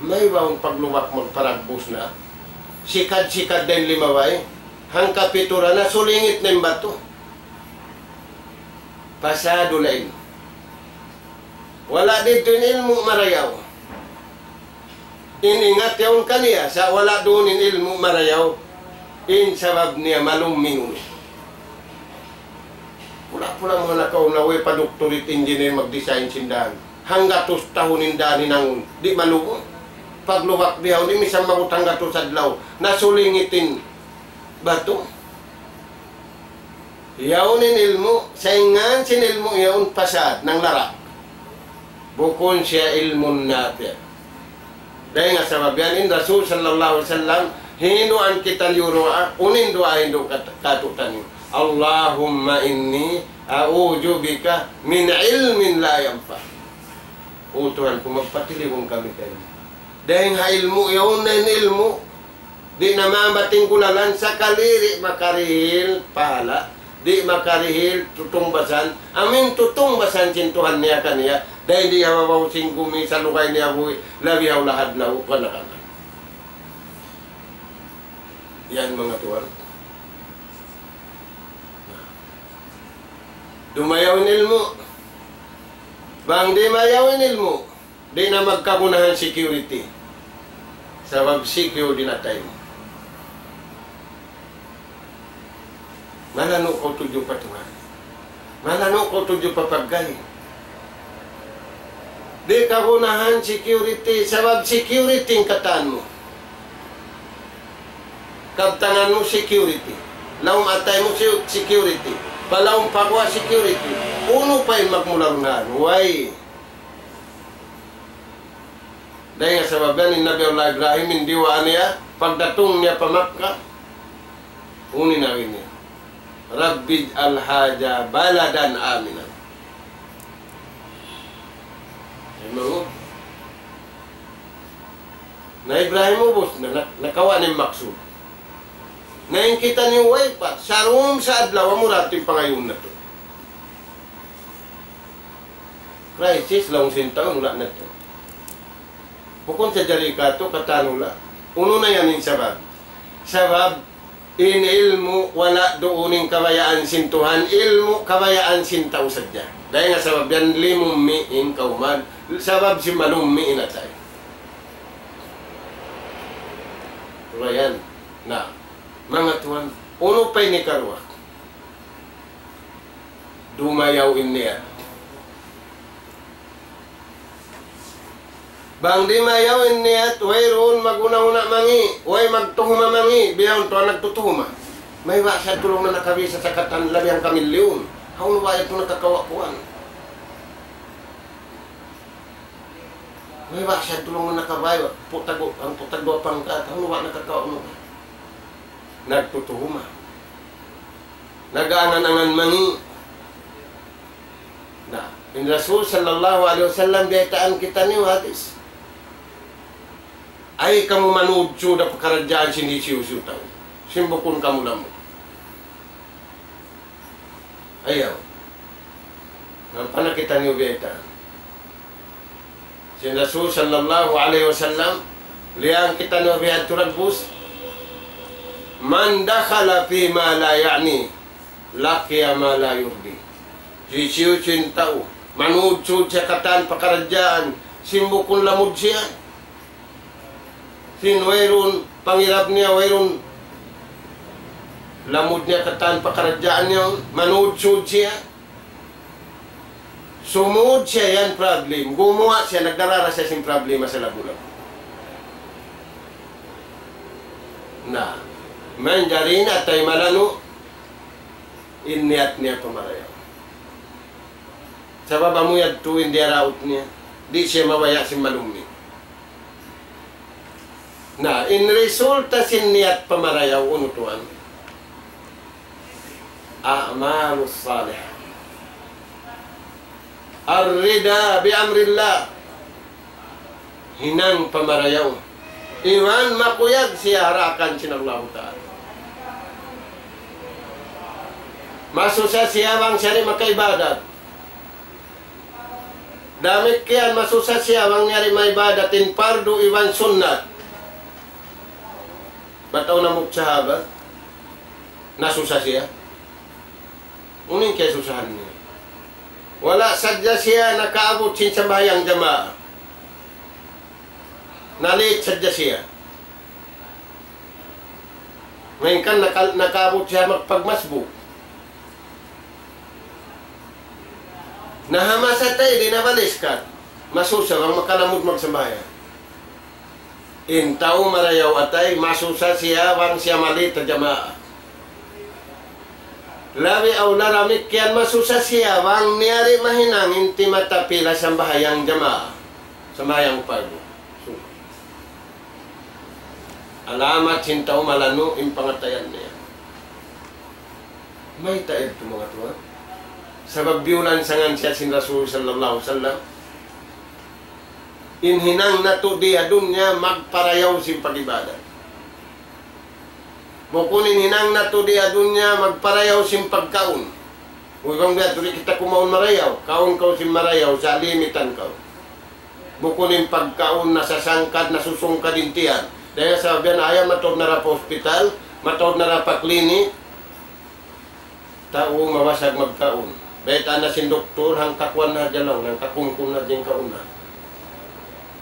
Maybaun paglubak magparagbus na. Sikad-sikad da in limabay. Hangkapitu ra na sulingit na in batu. Fasadul ilm. Wala' didtu in ilmu' marayaw. In ingat yaun kaniya, sa' wala' duun in ilmu' marayaw. In sabab niya malum minun. Pula-pula manga nakauna, way pa doctorate engineer mag-design sin dan. Hanggatus tahun in dan hinangun. Di' malubu. Paglubak bihaun, di' misan maabut hanggatus adlaw. Nasulingit in batu. Yaun in ilmu', sa' in ngan sin ilmu' yaun fasad, nanglarak. Bukun siya ilmun nafi'. Dayn ha sabab yan in Rasul sallallahu alayhi wasallam, hinduan kitaniyu duwaa, unu in duwaa hindu' kat-, kātu'niyu. اللهم إني أعوذ بك من علم لا ينفع. O Tuhan ku, magpatilibun kami kaymu. Dayn ha ilmu', yaun na in ilmu'. Di' na maambat in gulalan, sakali di' makarihil pahala', di' makarihil tutungbasan, amu in tutungbasan sin Tuhan niya kaniya, dayn di ha babaw sin gumi salugay niya buhi', labi ha ulahad na u-, kana-kana. Yan manga tuwan. Dumayaw in ilmu'. Bang di' mayaw in ilmu', di' na magkagunahan security. Sabab secure in atay mu. Malanu' kaw tudju pa Tuhan. Malanu' kaw tudju pa pagkahi. Di' kagunahan security, sabab security in katan mu. Kabtangan mu security. Lawm atay mu se-, security. Pa lawm pa guwa' security. Unu pa in magmula duun? Way. Dayn ha sabab yan in Nabi Allah Ibrahim, in duwaa niya, pagdatung niya pa Makkah, unu in agi niya, رب اجعل هذا بلدا آمنا. Imamu? Na Ibrahim ubus na, na, nakawa' na in maksud. Na in kitaniyu way pa, sarum sa adlaw, amura in pangayuun natu'. Crisis, laung sin tau, wala' natu'. Bukun sa jari katu', katan wala'. Unu na yan in sabab? Sabab, in ilmu', wala' duun in kabayaan sin Tuhan, ilmu', kabayaan sin tau sadja. Dayn ha sabab yan, limummi' in kawman, sabab sin malummi' in atay. Wala' yan. Na, manga tuwan, unu pa ini karuwa? Dumayaw in niyat. Bang di' mayaw in niyat, wayruun maghuna'-huna' mangi', way magtuhuma mangi', bihaun tuud nagtutuhuma. Mayta' siya tulung na nakabisa sa katan labi hangka milyun. Hawnu ba yadtu nakakawa' kuwan? Mayta' siya tulung na nakabaya', putag-, hangpu' tagduwa pangkat, hawnu ba nakakawa' mu? Nagtutuhuma. Nag-angan-angan mangi'. Na, in Rasul sallallahu alayhi wasallam biyaytaan kitaniyu hadis. Ay kamu manudju da pakaradjaan sin hisiyu-siyu tau. Sin bukun kamu lamud. Ayaw. Ampa na kitaniyu biyaytaan. Sin Rasul sallallahu alayhi wasallam, liyang kitaniyu biyadtu dagbus, من دخل فيما لا يعنيه لقي ما لا يرضيه. Hisiyu-siyu in tau, manudju siya katan pakaradjaan, sin bukun lamud siya. Sin wayruun pangirab niya, wayruun lamud niya katan pakaradjaan niya, manudju siya. Sumud siya yan problem. Gumuwa' siya, nagdarara siya sin problema sa labu-labu. Na, manjari na tay malanu', in niyat niya pamarayaw. Sabab amu yadtu in diyaraut niya. Di' siya mabaya' sin malummi. Na, in resulta sin niyat pamarayaw unu tuwan. الأعمال الصالحة. الرضا بأمر الله. Hinang pamarayaw. Iban makuyag siya ha daakan sin Allahu Ta'ala. Masusa siya bang siya di' makaibadat. Damikkiyan masusa siya bang niya di' maibadat in pardu iban sunnat. Bat awn hambuuk sahabat, nasusa siya. Unu in kiyasusahan niya? Wala' sadja siya nakaabut sin sambahayang jamaa. Na-late sadja siya. Malayngkan naka-, nakaabut siya magpagmasbuk. Na ha masa tay di' na baliskat. Masusa bang makalamud magsambahayang. In tau marayaw atay, masusa siya bang siya ma-late ha jamaa. Labi awla damikkiyan masusa siya bang niya di' mahinang in timata pila sambahayang jamaa, sambahayang pardu. Alamat sin tau malanu' in pangatayan niya. Mayta' yadtu manga tuwan? Sabab biyulansangan siya sin Rasul sallallahu alayhi wasallam. In hinang natu' di ha dunya magparayaw sin pag-ibadat. Bukun in hinang natu' di ha dunya magparayaw sin pagkaun. Uy, bang biya' tuud kita kumaun marayaw, kaun kaw sin marayaw, sa' limitan kaw. Bukun in pagkaun nasasangkad, nasusungkad in tiyan. Dayn ha sabab yan, ayaw mataud na da pa hospital, mataud na da pa klinik. Tau mawasag magkaun. Baytaan na sin doktor, hangkakuan na hadja laung, hangkakungkung na hadja in kaun na.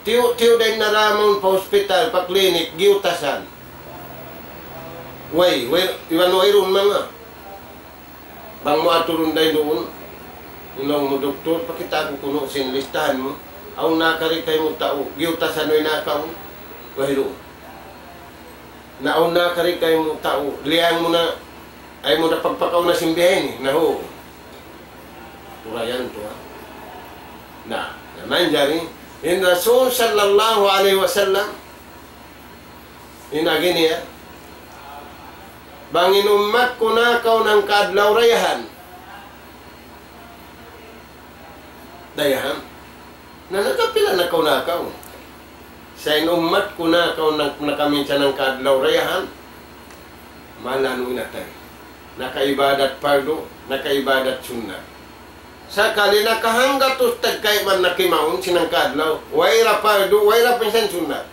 Tiyu'-tiyu' dayn na da mawn pa hospital, pa klinik, giyutasan. Way, way, iban wayruun manga. Bang mu aturun dayn duun, laung mu, "Doktor, pakitaa ku kunu' sin listahan mu. Awn na kari kaymu tau giyutasan way nakaun?" Wayruun. Na awn na kari kaymu tau, liyang mu na, ayaw mu na pagpakauna sin biya' ini. Na, hu. Turayan tuud. Na, na manjari, in Rasul sallallahu alayhi wasallam, in agi niya, bang in ummat ku nakaun hangka adlaw dayahan. Dayahan. Na nakapila na kaw nakaun? Sa' in ummat ku nakaun na, nakaminsan hangka adlaw dayahan, malanu' in atay. Nakaibadat pardu, nakaibadat sunnat. Sakali nakahanggatus tagkayman nakimaun sin hangka adlaw, way da pardu, way da minsan sunnat.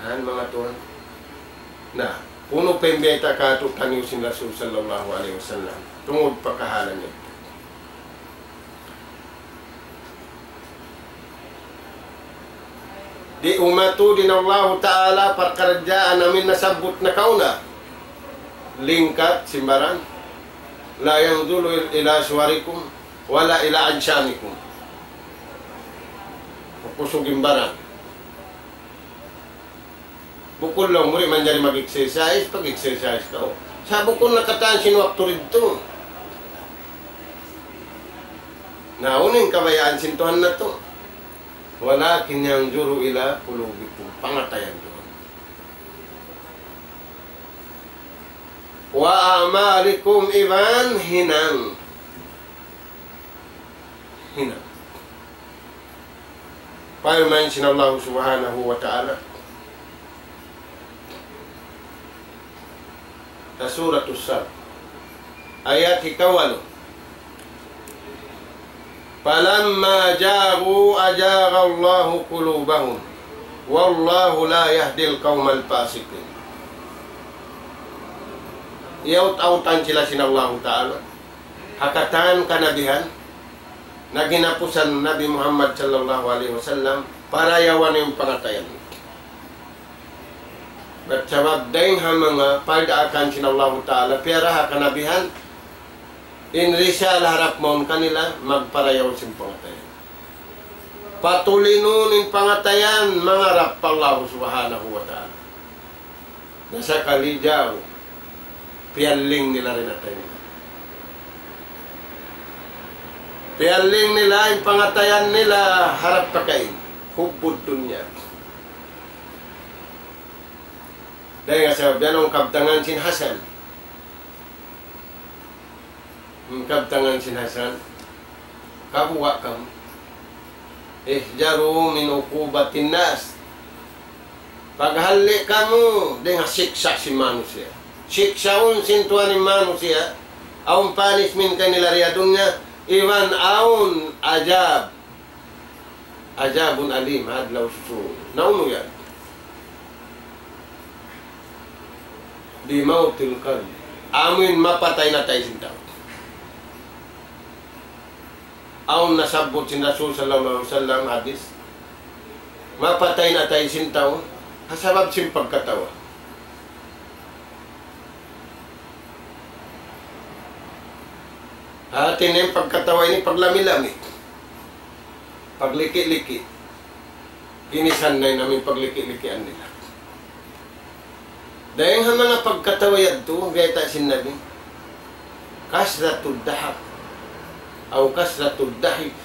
Yan, manga tuwan. Na, unu pa in biyayta' kātu'niyu sin Rasul sallallahu alayhi wasallam tungud pa kahalan niya? Di' umatu din Allahu Ta'ala parkaradjaan amin nasabbut nakauna. Lingkat sin baran. لا ينظر إلى صوركم ولا إلى أجسامكم. Kusug in baran. Bukun laung mu di' manjari mag-exercise, pag-exercise kaw. Sa' bukun na katan sin waktu didtu. Na, unu in kabayaan sin Tuhan natu'? ولكن ينظر إلى قلوبكم. Pangatayan Tuhan. وأعمالكم, iban hinang. Hinang. Parman sin Allah Subhanahu wa Ta'ala ha Suratus Sad, ayat hikawalu. فلما زاغوا أزاغ الله قلوبهم والله لا يهدي القوم الفاسقين. Iyawt-awtan sila sin Allahu Ta'ala ha katan kanabihan, na ginapusan Nabi Muhammad sallallahu alayhi wasallam, parayawan in pangatayan. Bat sabab dayng ha manga pagdaakan sin Allahu Ta'ala, piyara ha kanabihan, in risala harap mawn kanila, magparayaw sin pangatayan. Patulinun in pangatayan, mangarap pa Allah Subhanahu wa Ta'ala. Na sakali jaw, piyalling nila in atay nila. Piyalling nila in pangatayan nila harap pakain. حب الدنيا. Dayng ha sabab yan, awn kabtangan sin Hasan. In kabtangan sin Hasan, kabuga' kamu. احذروا من عقوبة الناس. Paghalli' kamu dayng ha siksa' sin manusiya'. Siksaun sin Tuhan in manusiya'. Awn punishment kanila di ha dunya, iban awn azab. عذاب أليم, ha adlaw susungun. Na unu yan? بموت القلب. Amuin mapatay in atay sin tau. Awn nasabbut sin Rasul sallallahu alayhi wasallam hadith, mapatay in atay sin tau ha sabab sin pagkatawa. Hati niya in pagkatawa ini paglami-lami, pagliki-liki. Ginisan na in amu in pagliki-likian nila. Dayng ha manga pagkatawa yadtu, biyayta' sin Nabi, كثرة الضحك أو كثرة الضحك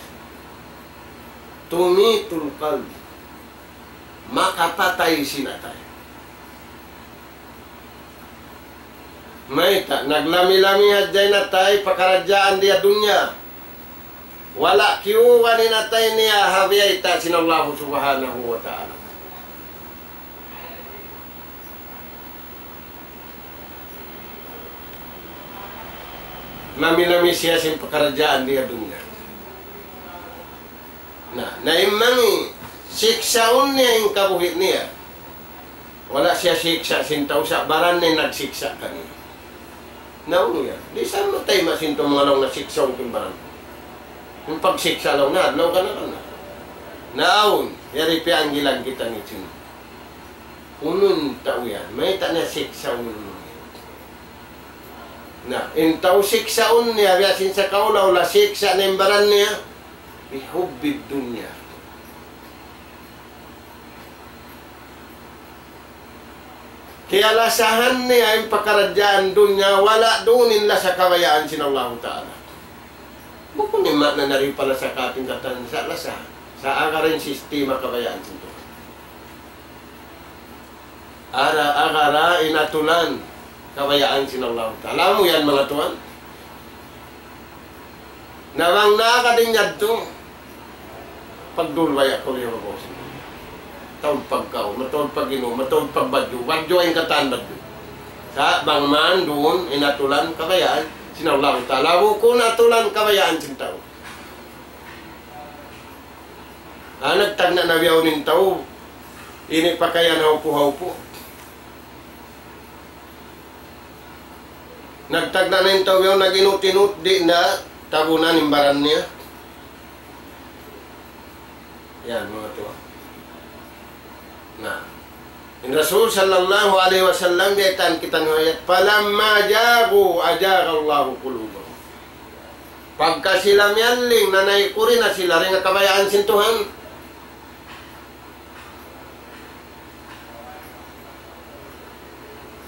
تميت القلب. Makapatay sin atay. Mayta', naglami-lami hadja in atay pakaradjaan di ha dunya. Wala' kiyuwan in atay niya ha biyayta' sin Allah Subhanahu wa Ta'ala. Nami-nami siya sin pakaradjaan di ha dunya. Na, na in manga siksaun niya in kabuhi' niya. Wala' siya siksa' sin tau sa' baran niya in nagsiksa' kaniya. Na unu yan? Di' sa matay ma sin tau manga laung na siksaun ku in baran ku. In pagsiksa' laung na, adlaw kana-kana. Na awn, yari piyanggilan kita niya sin unu in tau yan, mayta' niya siksaun? Na, in tau siksaun niya, biya' sin sa kaula-ula siksa' na in baran niya, بحب الدنيا. Kiyalasahan niya in pakaradjaan dunya, wala' duun in lasa kabayaan sin Allahu Ta'ala. Bukun in maana na rin pala sa kating katan sa lasa, sa agara in sistema kabayaan sin Tuhan. Ara, agara in atulan kabayaan sin Allahu Ta'ala. Amu yan, manga tuwan. Na bang nakadin yadtu, pagdulwaya ku liya babaw sin. Mataud pagkaun, mataud pag-inum, mataud pagbadju', badju' in katan badju'. Sa' bang man duun in atulan kabayaan sin Allahu Ta'ala, bukun atulan kabayaan sin tau. Ah, nagtagna' na bihaun in tau, ini pakayan haupu-haupu. Nagtagna' na in tau yaun, nag-inut-inut, di' na tabunan in baran niya. Yan, manga tuwan. Na, in Rasul sallallahu alayhi wasallam, biyaytaan kitaniyu ayat, فلما زاغوا أزاغ الله قلوبهم. Pagka sila miyalling, nanaykud na sila dayn ha kabayaan sin Tuhan.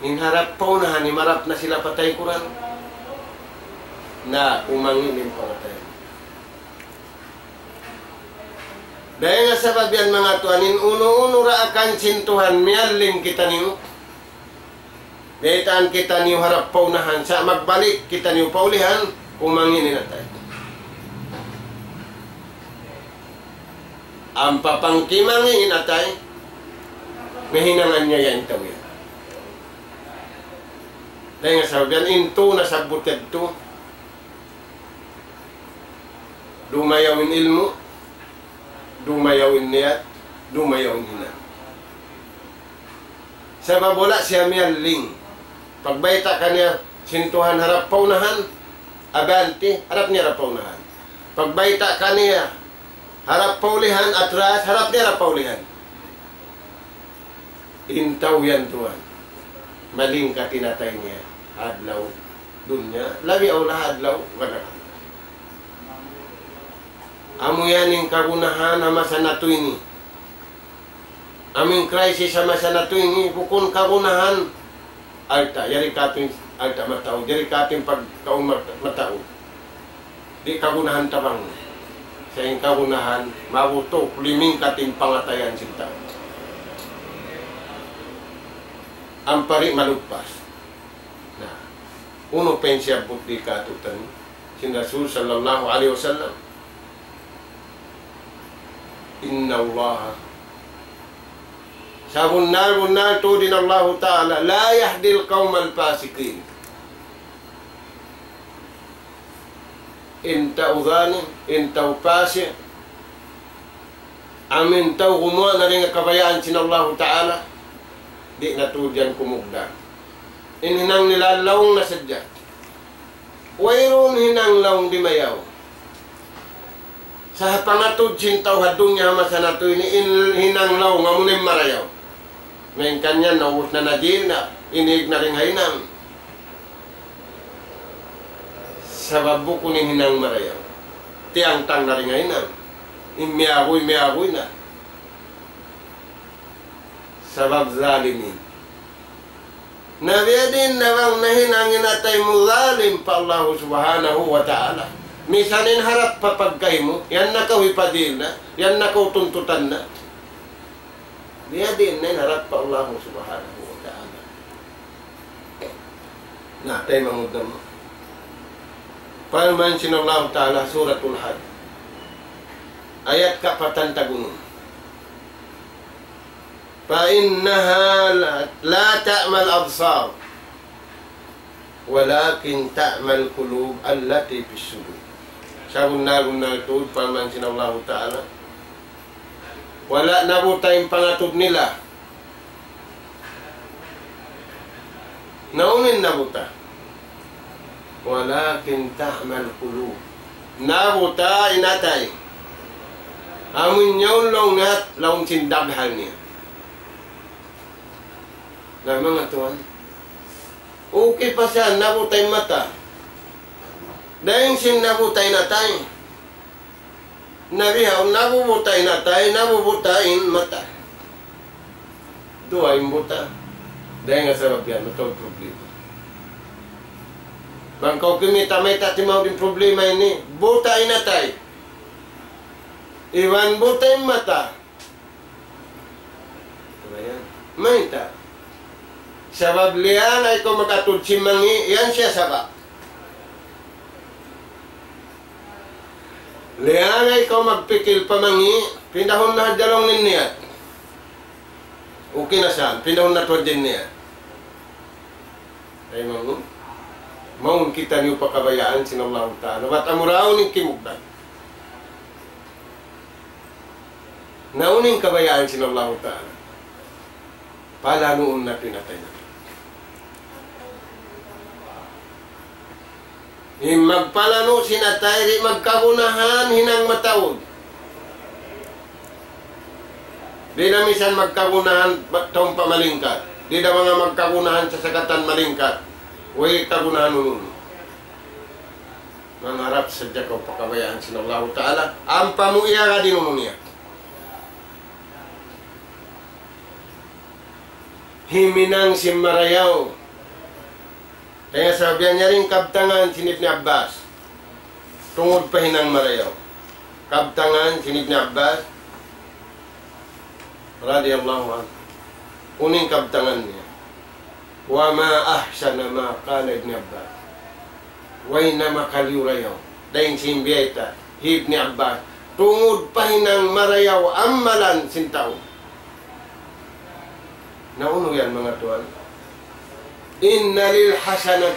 In harap pa unahan, himarap na sila pa taykuran. Na, umangi' in pangatayan. Dayn ha sabab yan, manga tuwan, in unu-unu daakan sin Tuhan, miyalling kitaniyu. Baytaan kitaniyu harap pa unahan, sa' magbalik kitaniyu pa ulihan, kumangi' in atay. Ampa pangkimangi' in atay, mahinangan niya yan in tau yan. Dayn ha sabab yan, in tū nasabbut yadtu, dumayaw in ilmu', dumayaw in niyat, dumayaw in hinang. Sabab wala' siya miyalling. Pagbayta' kaniya sin Tuhan harap pa unahan, abante, harap niya harap pa unahan. Pagbayta' kaniya harap pa ulihan, atras, harap niya harap pa ulihan. In tau yan tuwan, malingkat in atay niya ha adlaw dunya, labi awla ha adlaw akhir. Amu yan in kagunahan ha masa natu' ini. Amu in crisis ha masa natu' ini, bukun kagunahan alta', yari katu' in alta' mataud, yari katu' in pagkaun mat-, mataud. Di' kagunahan tabang. Sa' in kagunahan, mabutuk, limingkat in pangatayan sin tau. Ampa di' maluppas. Na, unu pa in siyabbut di' katu'niyu, sin Rasul sallallahu alayhi wasallam. إن الله, sabunnal-bunnal tuud in Allahu Ta'ala, لا يهدي القوم الفاسقين. In tau zalim, in tau pasik, amu in tau gumuwa' na dayn ha kabayaan sin Allahu Ta'ala, di' na tuud yan kumugdan. In hinang nila laung na sadja. Wayruun hinang laung dimayaw. Sa' ha pangatud sin tau ha dunya ha masa natu' ini, in hinang laung amu na in marayaw. Malayngkan yan, naubus na, najil na, inig na dayn ha hinang. Sabab bukun in hinang marayaw. Tiyangtang na dayn ha hinang. In miyaguy, miyaguy na. Sabab zalimin. Na biyadiin na bang nahinang in atay mu zalim pa Allahu Subhanahu wa Ta'ala. Misan in harap pa pagkahi mu, yan na kaw hipadil na, yan na kaw tuntutan na. Biyadiin na in harap pa Allahu Subhanahu wa Ta'ala. Na, taymanghud namu'. Parman sin Allahu Ta'ala, Suratul Hajj. Ayat kapatan tag-unum. فإنها لا، لا تعمى الأبصار ولكن تعمى القلوب التي في الصدور. Sabunnal-bunnal tuud, parman sin Allahu Ta'ala, wala' nabuta in pangatud nila. Na unu in nabuta? ولكن تعمى القلوب. Nabuta in atay. Amu in yaun laung niya, laung sin daghal niya. Na manga tuwan. Okay pa siya, nabuta in mata. Dayn sin nabuta in atay. Na bihaun, nabubuta in atay, nabubuta in mata. Duwa in buta. Dayn ha sabab yan, mataud problema. Bang kaw kimita', mayta' timaud in problema ini, buta in atay. Iban buta in mata. Mayta'? Sabab liyaangan kaw mag-atud sin mangi', yan siya sabab. Liyaangan kaw magpikil pa mangi', pindahun na hadja laung in niyat. Okay na sa, pindahun na tuud in niyat. Ay, maun. Mawn kitaniyu pa kabayaan sin Allahu Ta'ala. Bat amura unu in kimugdan. Na unu in kabayaan sin Allahu Ta'ala. Palanuun natu' in atay natu'. In magpalanu' sin atay, di' magkagunahan hinang mataud. Di' da misan magkagunahan ba-, taumpa malingkat. Di' da manga magkagunahan sasakatan malingkat. Way kagunahan unu-unu. Mangharap sadja kaw pa kabayaan sin Allahu Ta'ala. Ampa mu iyagad in unu niya. Himinang sin marayaw. Kaya sabab yan, yari in kabtangan sin Ibn Abbas. Tungud pa hinang marayaw. Kabtangan sin Ibn Abbas radiyallahu anhu. Unu in kabtangan niya. وما أحسن ما قال ابن عباس. Way na makaliyu-rayaw dayn sin biyayta' hi Ibn Abbas, tungud pa hinang marayaw amalan sin tau. Na unu yan, manga tuwan? إن للحسنة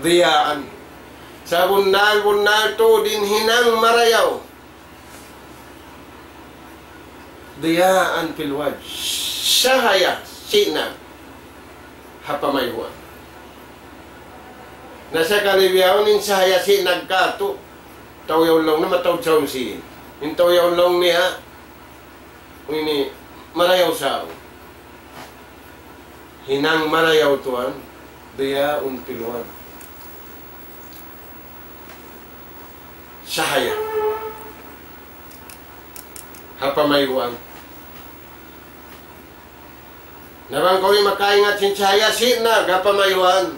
ضياء. Sabunnal-bunnal tuud in hinang marayaw. ضياء في الوجه. Sahaya sinag ha pamayhuan. Na sakali bihaun in sahaya sinag katu', tau yaun laung niya mataud sa usin. In tau yaun laung niya, ini marayaw sa. Hinang marayaw tuwan, ضياء في الوجه. Sahaya ha pamayhuan. Na bang kaw di' makaingat sin sahaya sinag ha pamayhuan,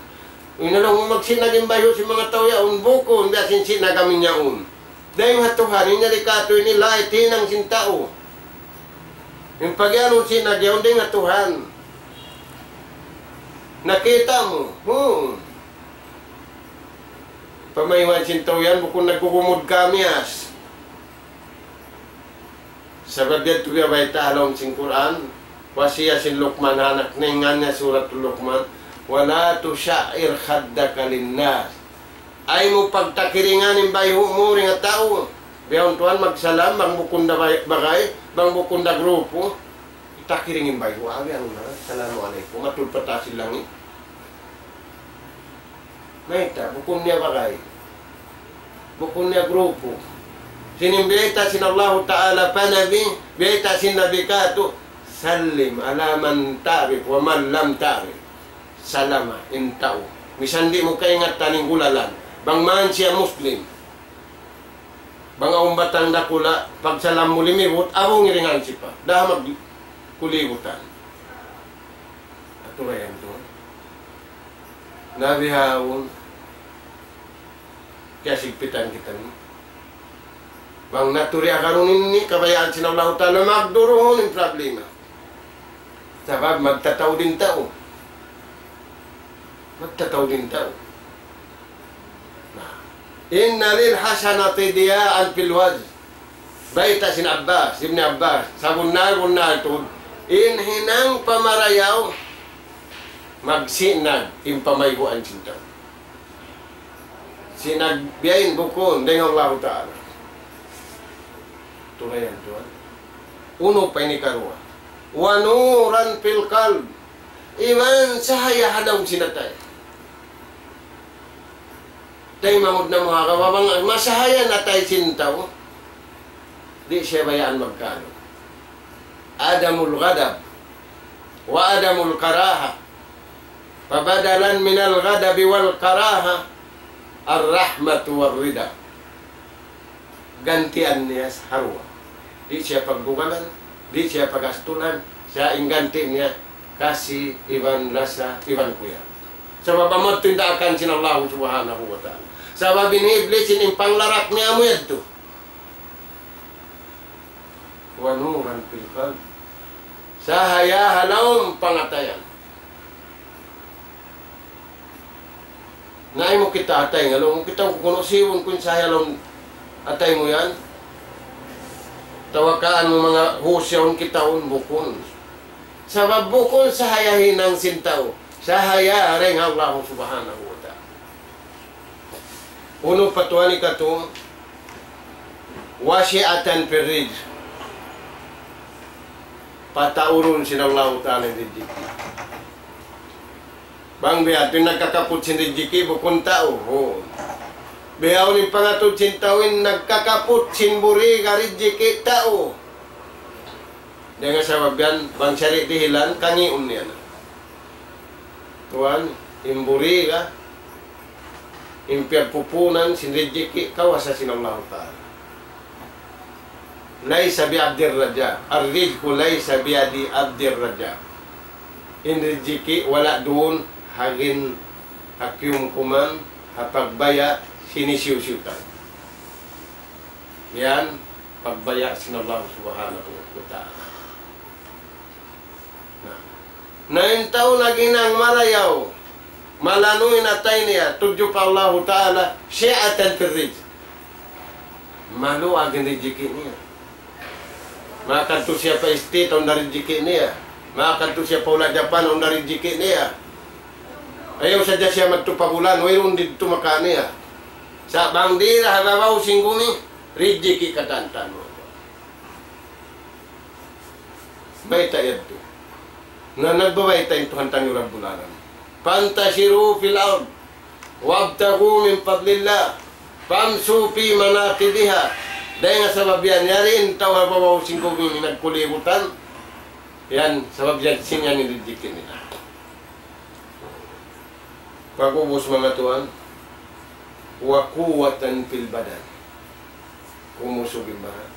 inalung mu magsinag in bayhu' sin manga tau yaun, bukun biya' sin sinag amin yaun. Dayn ha Tuhan, in yari katu' ini lait hinang sin tau. In pagiyanun sinag yaun dayn ha Tuhan. Nakita' mu. Hmm. Pamayhuan sin tau yan, bukun naggugumud kamiyas. Sabab yadtu biya' bayta' ha lawm sin Qur'an, wasiya sin Luqman ha anak niya, in ngan niya Suratul Luqman, ولا تصعر خدك للناس. Ayaw mu pagtakiringan in bayhu' mu dayn ha tau. Bihaun tuwan magsalam, bang bukun da bay-, bagay, bang bukun da grupu. Takiring in bayhu', abi anu na, "Assalamu alaykum," matud pa taas sin langit. Mayta', bukun niya bagay. Bukun niya grupu. Sin in biyayta' sin Allahu Ta'ala pa Nabi, biyayta' sin Nabi katu', سلم على من تعرف ومن لم تعرف. Salama in tau. Misan di' mu kaingatan in gulalan. Bang man siya Muslim. Bang awn batang dakula', pagsalam mu limibut, abung iringan sipa. Dahan magkulibutan. Atu ra yan tuud. Na bihaun, kiyasigpitan kita ini. Bang natu' di' agarun ini, kabayaan sin Allahu Ta'ala, magduruhun in problema. Sabab magtataud in tau. Magtataud in tau. Na, إن للحسنة ضياء في الوجه. Bayta' sin Abbas, Ibn Abbas, sabunnal-bunnal tuud, in hinang pamarayaw, magsinag in pamayhuan sin tau. Sinag biya' yan bukun dayn ha Allahu Ta'ala. Atu ra yan tuwan. Unu pa ini karuwa? ونورا في القلب. Iban sahaya ha lawm sin atay. Taymanghud namu' ha kawa bang masahaya in atay sin tau, di' siya bayaan magkalu. عدم الغضب وعدم الكراهة. فبدلا من الغضب والكراهة الرحمة والرضا. Gantian niya ha duwa. Di' siya pagbugalan, di' siya pagastulan, sa' in ganti' niya kasi iban lasa iban kuyag. Sabab amu yadtu in daakan sin Allah Subhanahu wa Ta'ala. Sabab in Iblis in panglarak niya amu yadtu. ونورا في القلب. Sahaya ha lawm pangatayan. Na ayaw mu kita' atay, nga laung mu kita' kunu' siwun kun sahaya ha lawm atay mu yan. Tawakaan mu manga husyaun kitaun, bukun. Sabab bukun sahaya hinang sin tau. Sahaya dayn ha Allah Subhanahu wa Ta'ala. Unu pa tuwan ikatu, وسعة في الرزق. Pataurun sin Allahu Ta'ala in rijiki'. Bang biya' hādtu in nagkakaput sin rijiki', bukun tau. Hu. Bihaun in pangatud sin tau in nagkakaput sin buriga rijiki' tau. Dayn ha sabab yan, bang siya di' dihilan, kangiun niya na. Tuwan, in buriga, in piyagpupunan sin rijiki', kawasa sin Allahu Ta'ala. ليس بعبد الرزاق. الرزق ليس بيد عبد الرزاق. In rijiki' wala' duun ha gin ha kiyumkuman, ha pagbaya' sin hisiyu-siyu tau. Yan, pagbaya' sin Allah Subhanahu wa Ta'ala. Na. Na in tau naghinang marayaw, malanu' in atay niya, tudju pa Allahu Ta'ala, سعة في الرزق. Maluag in rijiki' niya. Makadtu siya pa States, awn da rijiki' niya. Makadtu siya pa hula' Japan, awn da rijiki' niya. Ayaw sadja siya madtu pa bulan, wayruun didtu makaniya. Sa' bang dira ha babaw sin gumi, rijiki' katan-katan. Mayta' yadtu? Na nagbabayta' in Tuhan taniyu Rabbul Alamin. فانتشروا في الأرض وابتغوا من فضل الله فامشوا في مناكبها. Dayn ha sabab yan, yari in tau ha babaw sin gumi nagkulibutan. Yan, sabab yan, sin yan in rijiki' nila. Pag'ubus, manga tuwan, وقوة في البدن. Kumusug in baran.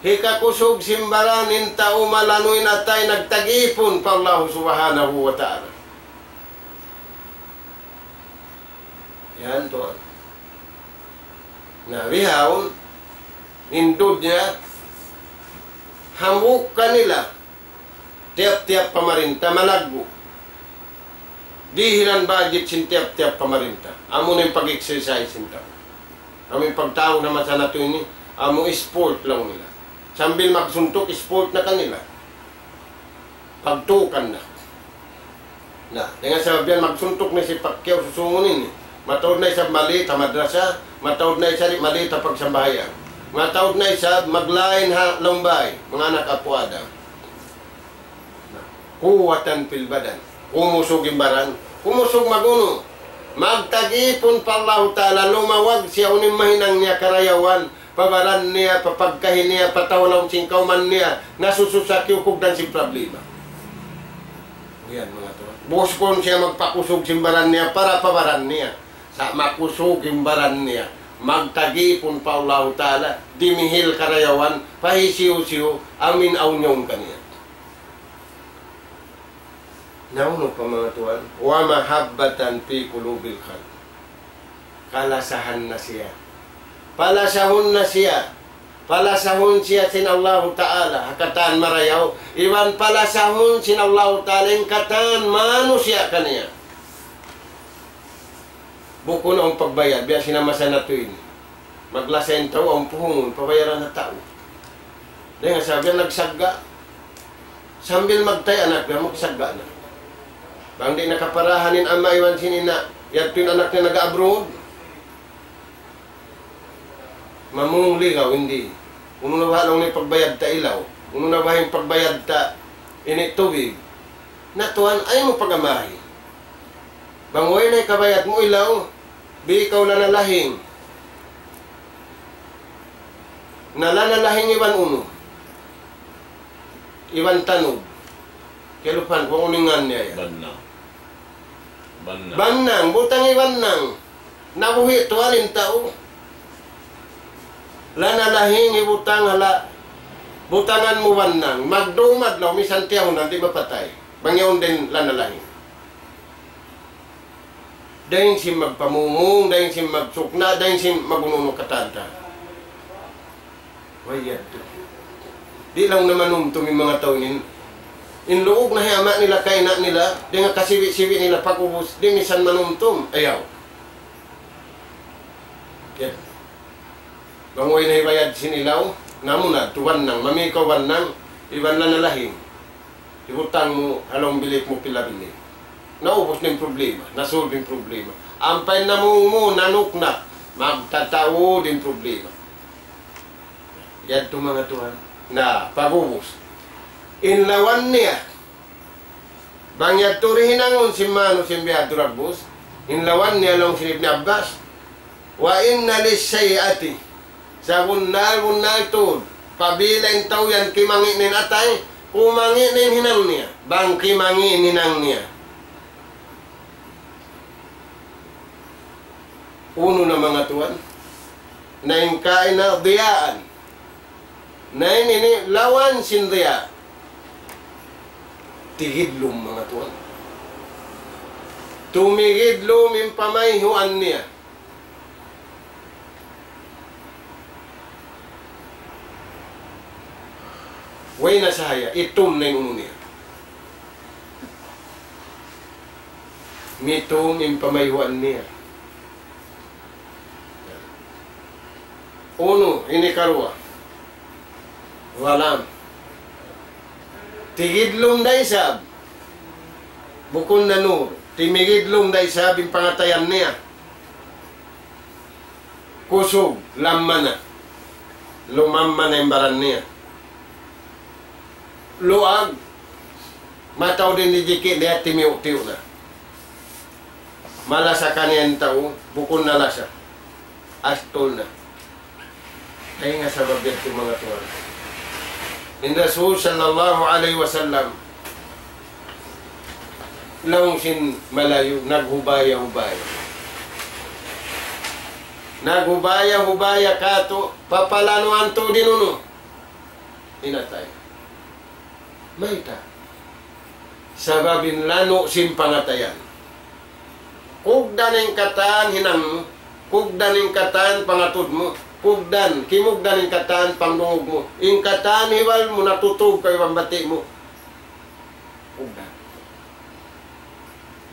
Hikakusug sin baran in tau malanu' in atay nagtagipun pa Allahu Subhanahu wa Ta'ala. Yan tuwan. Na bihaun, in dunya, hambuuk kanila, tiyap-tiyap pamarinta malaggu'. Dihilan budget sin tiyap-tiyap pamarinta. Amu na in pag-exercise sin tau. Amu in pagtawagun ha masa natu' ini, amu sport laung nila. Sambil magsuntuk, sport na kanila. Pagtukan na. Na, dayn ha sabab yan magsuntuk na si Pacquiao susungun ini. Mataud na isab maliit ha madrasa, mataud na isab maliit ha pagsambahayang. Mataud na isab maglain ha laum bay, manga anak apu' Adam. Na, قوة في البدن. Kumusug in baran. Kumusug mag-unu? Magtagipun pa Allahu Ta'ala, lumawag siya unu in mahinang niya karayawan, pa baran niya, pa pagkahi niya, pa tau ha lawm sin kawman niya, nasususa kiyukugdan sin problema. Yan, manga tuwan. Buskun siya magpakusug sin baran niya para pa baran niya. Sa' makusug in baran niya, magtagipun pa Allahu Ta'ala, dimihil karayawan, pa hisiyu-siyu, amu in awn yaun kaniya. Na unu pa, manga tuwan? ومحبة في قلوب الخلق. Kalasahan na siya. Palasahun na siya. Palasahun siya sin Allahu Ta'ala, ha katan marayaw. Iban palasahun sin Allahu Ta'ala in katan manusiya' kaniya. Bukun awn pagbayad, biya' sin ha masa natu' ini. Maglasa in tau, awn puhungun, pabayaran ha tau. Dayn ha sabab yan nagsagga'. Sambil magtay anak niya, magsagga' na. Bang di' na kaparahan in ama' iban sin ina', yadtu in anak niya naga-abroad. Mamung ligaw, hindi. Unu na baha' laung niya pagbayad ta ilaw? Unu na baha' in pagbayad ta ini tubig? Na tuwan, ayaw mu pag-amahi. Bang way na ikabayad mu ilaw, bi ikaw lanalahing. Na lanalahing iban unu? Iban tanug. Kiyalupahan ku unu in ngan niya yan. Bannang. Bannang. Bannang, butang hi bannang. Nabuhi' tuwan in tau. Lanalahing hibutang ha la-, butangan mu bannang. Magdum adlaw, misan tiyahunan, di' mapatay. Bang yaun da in lanalahing. Dayn sin magpamumung, dayn sin magsukna', dayn sin mag-unu-unu katan-katan. Way yadtu. Di' laung na manumtum in manga tau ini. In luug na hi ama' nila, kaina' nila, dayn ha kasibi'-sibi' nila, pag'ubus, di' misan manumtum. Ayaw. Yan. Bang way na hibayad sin ilaw, namu na, tu bannang, mami kaw bannang, iban lanalahing. Hibutang mu ha lawm bilik mu pila bilik. Naubus na in problema, na-solve in problema. Ampa in namung mu, nanuknak, magtataud in problema. Yadtu manga tuwan. Na, pag'ubus. In lawan niya. Bang yadtu di' hinangun sin manu sin bihadtu dagbus. In lawan niya laung sin Ibn Abbas. وإن للشيئة, sabunnal-bunnal tuud, apabila in tau yan kimangi' na in atay, kumangi' na in hinang niya, bang kimangi' in hinang niya. Unu na manga tuwan? Na in kaina ضياء. Na in ini lawan sin diya'. Tigidlum manga tuwan. Tumigidlum in pamayhuan niya. Way na sahaya, itum na in unu niya. Mitum in pamayhuan niya. Unu, ini karuwa. Zalam. Tigidlum da isab. Bukun na nur. Timigidlum da isab in pangatayan niya. Kusug, lamma na. Lumamma na in baran niya. Luag, mataud in jiki' niya, timiyu'-tiyu' na. Malasa kaniya in tau, bukun na lasa. Astul na. Ay nga sabab yadtu, manga tuwan. In Rasul sallallahu alayhi wasallam, laung sin Malayu, naghubaya-hubaya. Naghubaya-hubaya katu', papalanuan tuud in unu. In atay. Mayta'? Sabab in lanu' sin pangatayan. Kugdan in katan hinang mu, kugdan in katan pangatud mu, kugdan, kimugdan in katan pangdungug mu, in katan hibal mu natutug kaw iban bati' mu. Kugdan.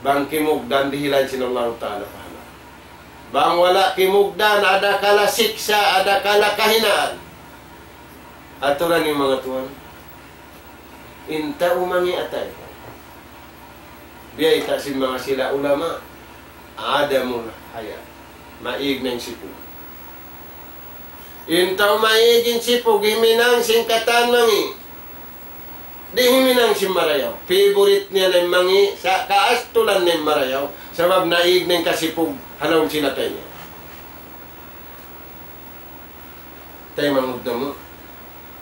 Bang kimugdan dihilan sin Allahu Ta'ala pahala. Bang wala' kimugdan, adakala siksa', adakala kahinaan. Aturan in manga tuwan. In tau mangi' atay. Biyayta' sin manga sila ulama, adamul haya. Maig na in sipug. In tau maig in sipug, himinang sin katan mangi'. Di' himinang sin marayaw. Favorite niya na in mangi', sa' kaastulan na in marayaw. Sabab naig na in kasipug, ha lawm sin atay niya. Taymanghud namu'.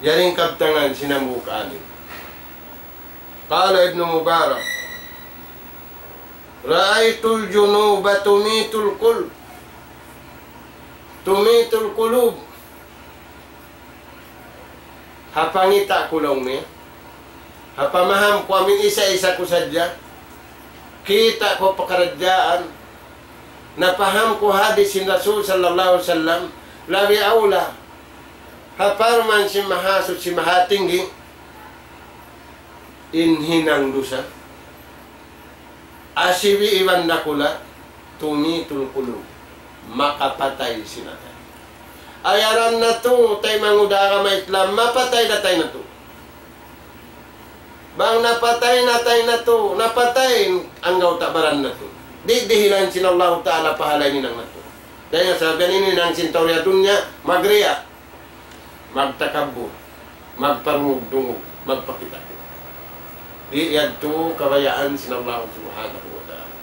Yari in kabtangan sin hambuuk alim. قال ابن مبارك: رأيت الجنوب تميت القلوب. تميت القلوب. Ha pangita' ku laung niya. Ha pamaham ku amin isa-isa ku sadja. Kita' ku pakaradjaan. Napaham ku hadis sin Rasul sallallahu alayhi wasallam, labi awla ha parman sin Mahasuchi Mahatinggi, in hinang dusa, asibi' iban dakula', tumitul kulub, makapatay sin atay. Ayaran natu', taymanghud ha agama Islam, mapatay na atay natu'. Bang napatay na atay natu', napatay in anggawta' baran natu'. Di' dihilan sin Allahu Ta'ala pahala in hinang natu'. Dayn ha sabab yan in hinang sin tau ha dunya, magriya', magtakabbur, magparungug-dungug, magpakita'. Di' yadtu kabayaan sin Allahu Subhanahu wa Ta'ala.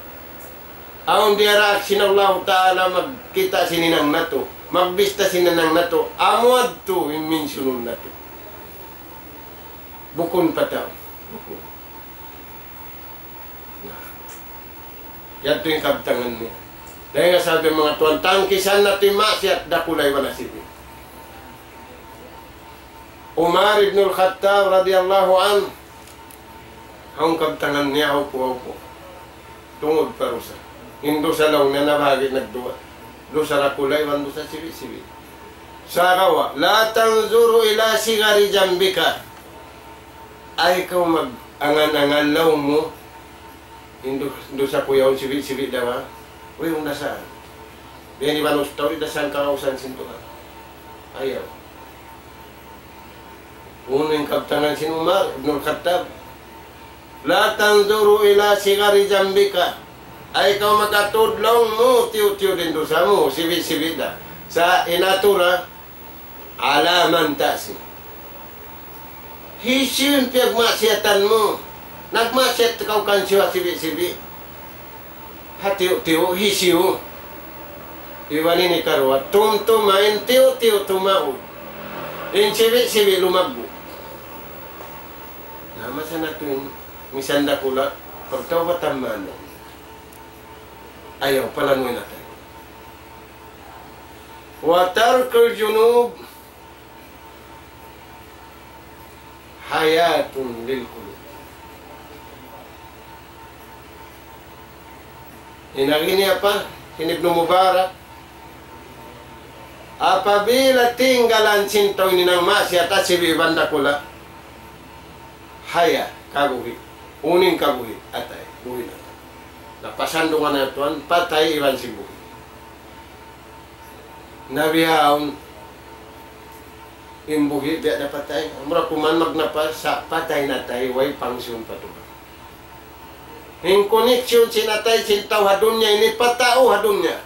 Awn diyaraak sin Allahu Ta'ala magkita' sin hinang natu', magbista sin hinang natu', amu yadtu in minsunun natu'. Bukun pa tau. Bukun. Na. Yadtu in kabtangan niya. Dayn ha sabab manga tuwan, tangkisan natu' in maksiyat dakula' iban asibi'. Umar ibn al-Khattab radiyallahu anhu, awn kabtangan niya, hawpu'-hawpu'. Tungud pa dusa. In dusa laung niya nabahagi' nagduwa. Dusa dakula' iban dusa sibi'-sibi'. Sagawa', لا تنظر إلى صغر ذنبك. Ayaw kaw mag-angan-angan laung mu. In du-, dusa ku yaun sibi'-sibi' da ba. Uy, unda saan. Biya' ini banus tau, di' da saan kawausan sin Tuhan. Ayaw. Unu in kabtangan sin Umar ibn al-Khattab? لا تنظر إلى صغر ذنبك. Ayaw kaw makatud laung mu, tiyu'-tiyu' da in dusa mu, sibi'-sibi' da. Sa' in atura, على من تأسي. Hisiyu in piyagmaksiyatan mu? Nagmaksiyat kaw kan siyu ha sibi'-sibi'. Ha tiyu'-tiyu', hisiyu. Iban ini karuwa, tumtuma in tiyu'-tiyu' tumaud. In sibi'-sibi' lumaggu'. Na, masa natu' in, misan dakula', pagtawbatan man. Ayaw, palanuin natu'. وترك الذنوب حياة للقلوب. In agi niya pa, in Ibnu Mubarak, apabila tinggalan sin tau in hinang maksiyat, asibi' iban dakula', haya, kabuhi'. Unu in kabuhi', atay, buhi' na. Na pasandungan na tuwan, patay iban sin buhi'. Na bihaun, in buhi' biya' da patay. Amura kuman magnapas, sa' patay na atay, way pangsiun pa Tuhan. In connection sin atay sin tau ha dunya ini pa tau ha dunya.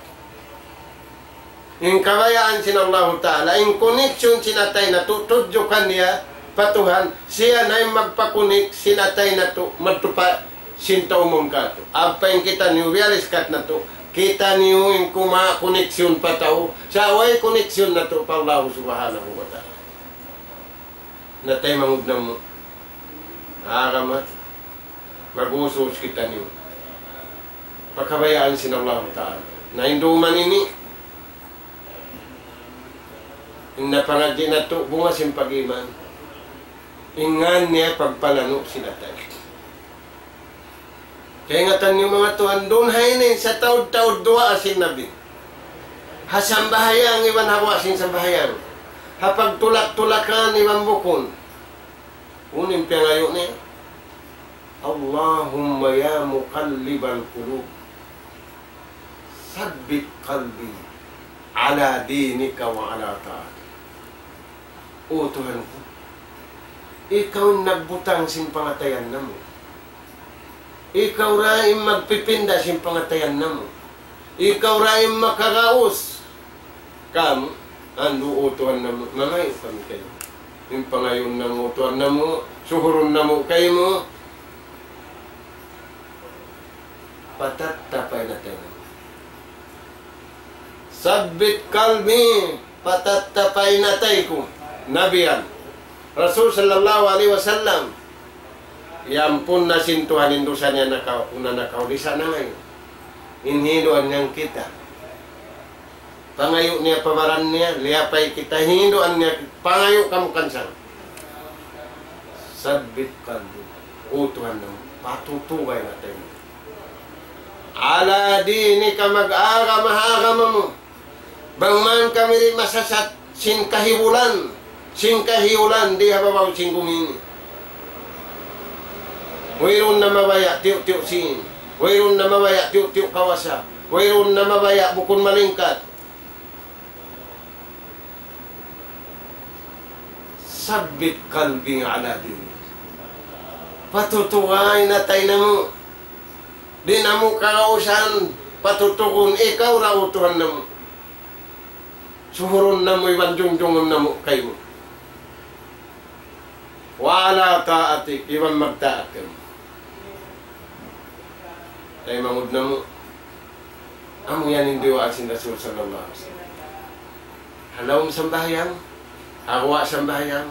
In kabayaan sin Allahu Ta'ala, in connection sin atay natu', tudju kaniya pa Tuhan, siya na in magpa-connect sin atay natu', madtu pa sin tau umum katu'. Ampa in kitaniyu, realize kat natu', kitaniyu in kuma connection pa tau, sa' way connection natu' pa Allahu Subhanahu wa Ta'ala. Na taymanghud namu'. Agama. Mag-usus kitaniyu pa kabayaan sin Allahu Ta'ala. Na in duman ini, in napangadji' natu', bunga sin pag-iman. In ngan niya pagpalanu' sin atay. Kaingatan niyu manga tuwan, duun ha ini sataud-taud duwaa sin Nabi. Ha sambahayang iban ha guwa' sin sambahayang. Ha pagtulak-tulakan iban bukun. Unu in piyangayu' niya? اللهم يا مقلب القلوب ثبت قلبي على دينك وعلى طاعتك. O Tuhan ku, ikaw in nagbutang sin pangatayan namu'. Ikaw ra in magpipinda sin pangatayan namu'. Ikaw ra in makagaus. Kamu, andu' o Tuhan namu', mangayu' kami kaymu. In pangayuun namu', o Tuhan namu', suhurun namu' kaymu, patattapay na atay namu'. ثبت قلبي, patattapay na atay ku. Nabi yan. Rasul sallallahu alayhi wasallam. Iyampun na sin Tuhan in dusa niya nakauna, nakauli, sa' nangayu'. In hinduan niya kita. Pangayu' niya pa baran niya, liyapay kita, hinduan niya, pangayu' kamu kansang. ثبت قلبي. O Tuhan namu', patutugay na atay mu. على دينك, mag-agama ha agama mu. Bang man kami di' masasat sin kahibulan, sin kahiyulan di ha babaw sin gumi ini. Wayruun na mabaya' tiyu'-tiyu' sīn. Wayruun na mabaya' tiyu'-tiyu' kawasa. Wayruun na mabaya' bukun malingkat. ثبت قلبي على دينك. Patutugay na atay namu'. Di' namu' kagausan patutugun ikaw ra, O Tuhan namu'. Suhurun namu' iban jungjungun namu' kaymu. وعلى طاعتك, iban magtaat kaymu. Taymanghud namu'. Amu yan in duwaa sin Rasul sallallahu alayhi wasallam. Ha lawm sambahayang, ha guwa' sambahayang,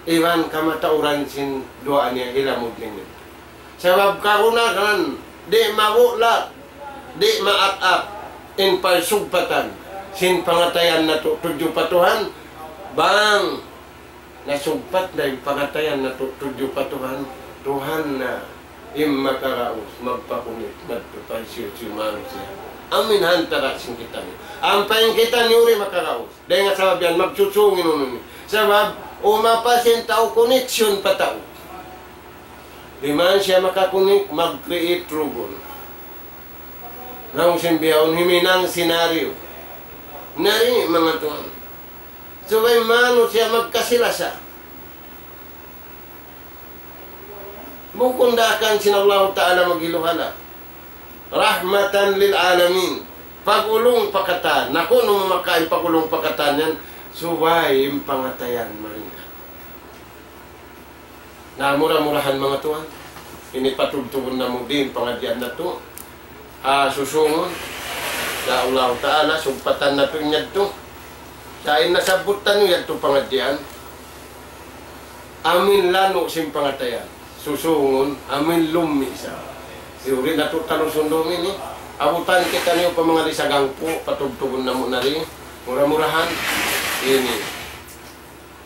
iban kamatauran sin duwaa niya hilamud niya. Sabab kagunahan, di' mabulag, di' maak-ak, in pagsugpatan sin pangatayan natu' tudju pa Tuhan, bang nasugpat na in pangatayan natu' tudju pa Tuhan, Tuhan na in makaraus, magpakunit, madtu pa hisiyu-siyu manusiya'. Amu in hantara' sin kitaniyu. Ampa in kitaniyu di' makaraus. Dayn ha sabab yan, magsusung in unu ini. Sabab, umapas in tau connection pa tau. Di' man siya makakunik, mag-create rugun. Laung sin bihaun, himinang scenario. Nari, manga tuwan. Subay manusiya' magkasi-lasa. Bukun daakan sin Allahu Ta'ala maghiluhala. رحمة للعالمين. Pag'ulung pa katan. Na kunu' mamakain pag'ulung pa katan yan. Subay in pangatayan malingkat. Na mura-murahan manga tuwan, ini patubtubun namu' di in pangadjian natu'. Ha susungun, insya Allah Ta'ala, sugpatan natu' in yadtu. Sa' in nasabbut taniyu yadtu pangadjian, amin lanu' sin pangatayan. Susungun, amin lummi' sa. Iyuri natu' talusun duun ini. Abutan kitaniyu pa manga di sagangpu', patubtubun namu' na di. Mura-murahan, ini.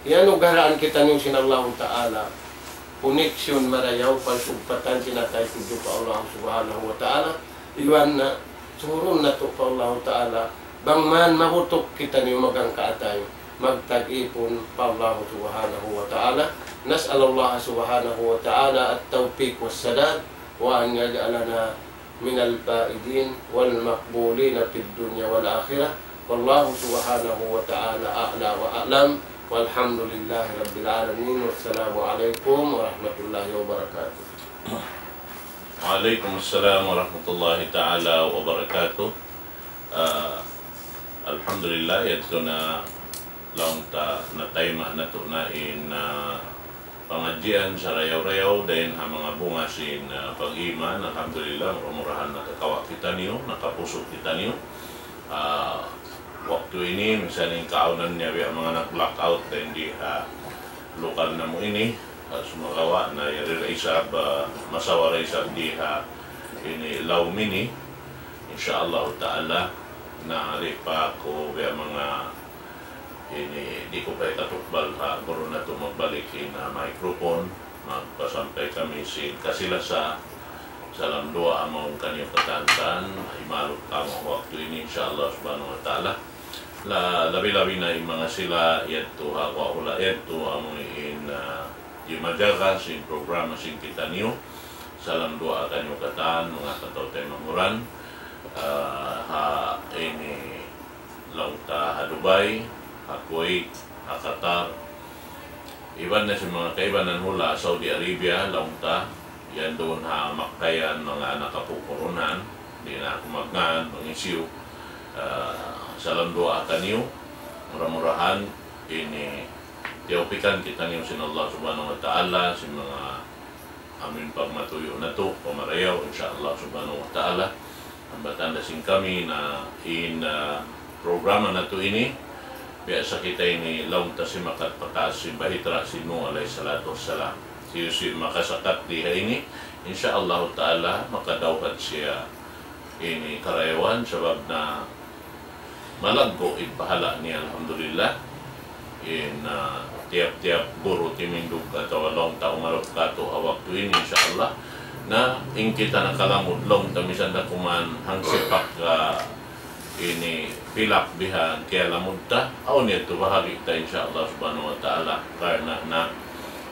Iyanugaraan kitaniyu sin Allahu Ta'ala. Connection marayaw, pagsugpatan sin atay tudju pa Allah Subhanahu wa Ta'ala. Iban na, surun natu' pa Allahu Ta'ala. Bang man mabutuk kitaniyu maghangka atay, magtag-ipun pa Allah Subhanahu wa Ta'ala. نسأل الله سبحانه وتعالى التوفيق والسداد، وأن يجعلنا من الفائزين والمقبولين في الدنيا والآخرة. والله سبحانه وتعالى أعلى وأعلم، والحمد لله رب العالمين، والسلام عليكم ورحمة الله وبركاته. وعليكم السلام ورحمة الله تعالى وبركاته. Ah, alhamdulillah, yadtu na laung ta nataima' natu' na in, ah, pangadjian sarayaw-rayaw dayn ha manga bunga sin, ah, pag-iman. Alhamdulillah, mura-murahan nakakawa' kitaniyu, nakapusug kitaniyu. Ah, waktu ini, minsan in kaawnan niya biya' manga nag-blackout dayn di ha lugal namu' ini, ah, sumagawa' na yari da isab, ah, masawa da isab di ha ini lawm ini. Insya Allah Ta'ala, na di pa aku biya' manga ini, di' ku pa hikatukbal ha guru natu' magbalik in, ah, microphone, magpasampay kami sin kasilasa, salam duwaa mawn kaniyu katan, imalut kamu waktu ini, insya Allah subhanahu wa ta'ala. La, labi-labi na in manga sila yadtu ha guwa' hula' yadtu, amu in, ah, jimajaga sin programa sin kitaniyu. Salam duwaa kaniyu katan, manga kataw-taymanghuran, ah, ha ini laung ta ha Dubai, ha Kuwait, ha Qatar, iban na sin manga kaibanan hula' Saudi Arabia, laung ta, yan duun ha Makkah yan, manga nakapupurunan, di' na aku magngan, mangisiyu. Ah, salam duwaa kaniyu, mura-murahan ini tiyawpikan kitaniyu sin Allah Subhanahu wa Ta'ala, sin manga amu in pagmatuyu' natu', pamarayaw, insya Allah Subhanahu wa Ta'ala. Hambatan da sin kami na in, ah, programa natu' ini, biya' sa kita ini laung ta simakat pa taas sin bahitra' sin Nuh alayhi salatu wassalam. Hisiyu-siyu makasakat di ha ini, insya Allah Ta'ala, makadawhat siya ini karayawan, sabab na malaggu' in pahala' niya, alhamdulillah. In, ah, tiyap-tiyap guru timindug atawa laung ta umarup katu' ha waktu ini, insya Allah. Na in kita nakalamud laung ta, misan da kuman hangsipak, ah, ini pilak bihan kiyalamud ta, awn yadtu bahagi' ta, insya Allah subhanahu wa ta'ala. Karna' na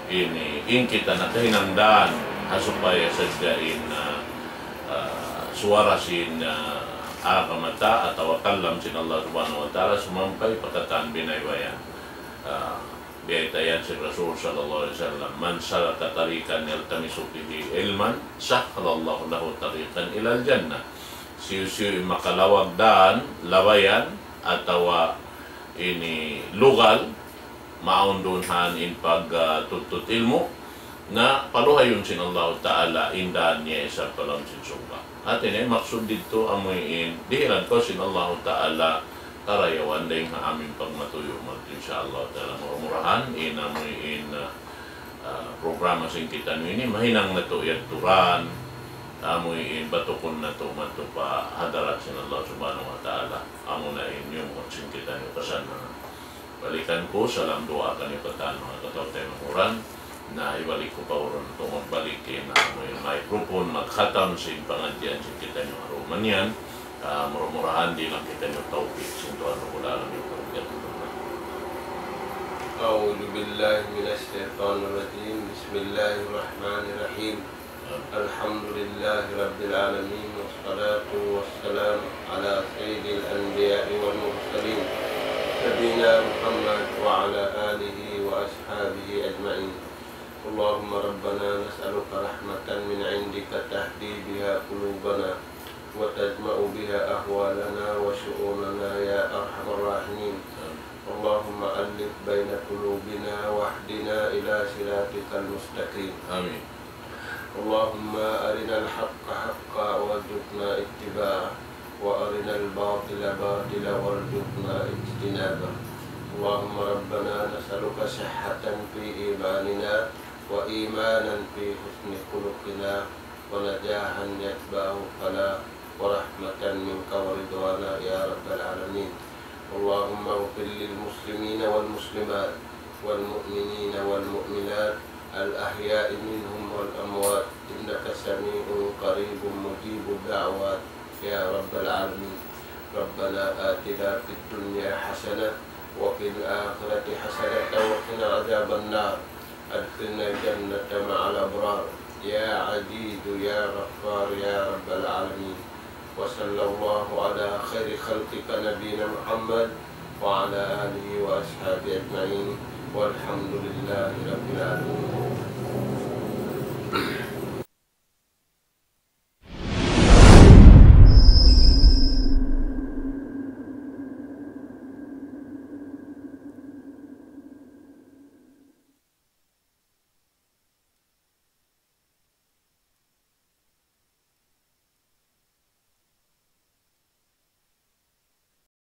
ini, in kita nakahinang dān ha supaya sadja in, ah, ah, suwara sin, ah, agama ta atawa kalam sin Allah Subhanahu wa Ta'ala sumampay pa katan biya' bayta', ah, bayta' yan sin Rasul sallallahu alayhi wasallam, من سلك طريقا يلتمس فيه علما سهل الله له طريقا إلى الجنة. Hisiyu-siyu in makalawag dān, labayan, atawa ini lugal, maawn duun ha yan in pag, ah, tuntut ilmu', na paluhayun sin Allahu Ta'ala in dān niya isab pa lawm sin surga'. Hāti niya, maksud didtu amu in dihilan kaw sin Allahu Ta'ala karayawan dayn ha amu in pagmatuyu' madtu, insya Allah Ta'ala. Mura-murahan, in amu in, ah, ah, programa sin kitaniyu ini, mahinang natu' yadtu dān, amu in batukun natu' madtu pa hadarat sin Allah Subhanahu wa Ta'ala. Amu na in yumut sin kitaniyu kasannangan. Balikan ku, salam duwaa kaniyu katan manga kataw-taymanghuran. Na hibalik ku pa urun tuud magbalik in amu in microphone, magkhatam sin pangadjian sin kitaniyu ha dum yan. Ah, mura-murahan dihilan kitaniyu tawpik sin Tuhan Rabbul Alamin. أعوذ بالله من الشيطان الرجيم. بسم الله الرحمن الرحيم. الحمد لله رب العالمين، والصلاة والسلام على سيد الأنبياء والمرسلين، نبينا محمد وعلى آله وأصحابه أجمعين. اللهم ربنا نسألك رحمة من عندك تهدي بها قلوبنا وتجمع بها أحوالنا وشؤوننا يا أرحم الراحمين. اللهم ألف بين قلوبنا واهدنا إلى صراطك المستقيم. Amin. اللهم أرنا الحق حقا وارزقنا اتباعه، وأرنا الباطل باطلا وارزقنا اجتنابه. اللهم ربنا نسألك صحة في إيماننا، وإيمانا في حسن خلقنا، ونجاحا يتبعه الفلاح، ورحمة منك ورضوانا يا رب العالمين. اللهم اغفر للمسلمين والمسلمات والمؤمنين والمؤمنات الأحياء منهم والأموات إنك سميع قريب مجيب الدعوات يا رب العالمين. ربنا آتنا في الدنيا حسنة وفي الآخرة حسنة وقنا عذاب النار. أدخلنا الجنة مع الأبرار يا عزيز يا غفار يا رب العالمين. وصلى الله على خير خلقك نبينا محمد وعلى آله وأصحابه أجمعين. والحمد لله رب العالمين.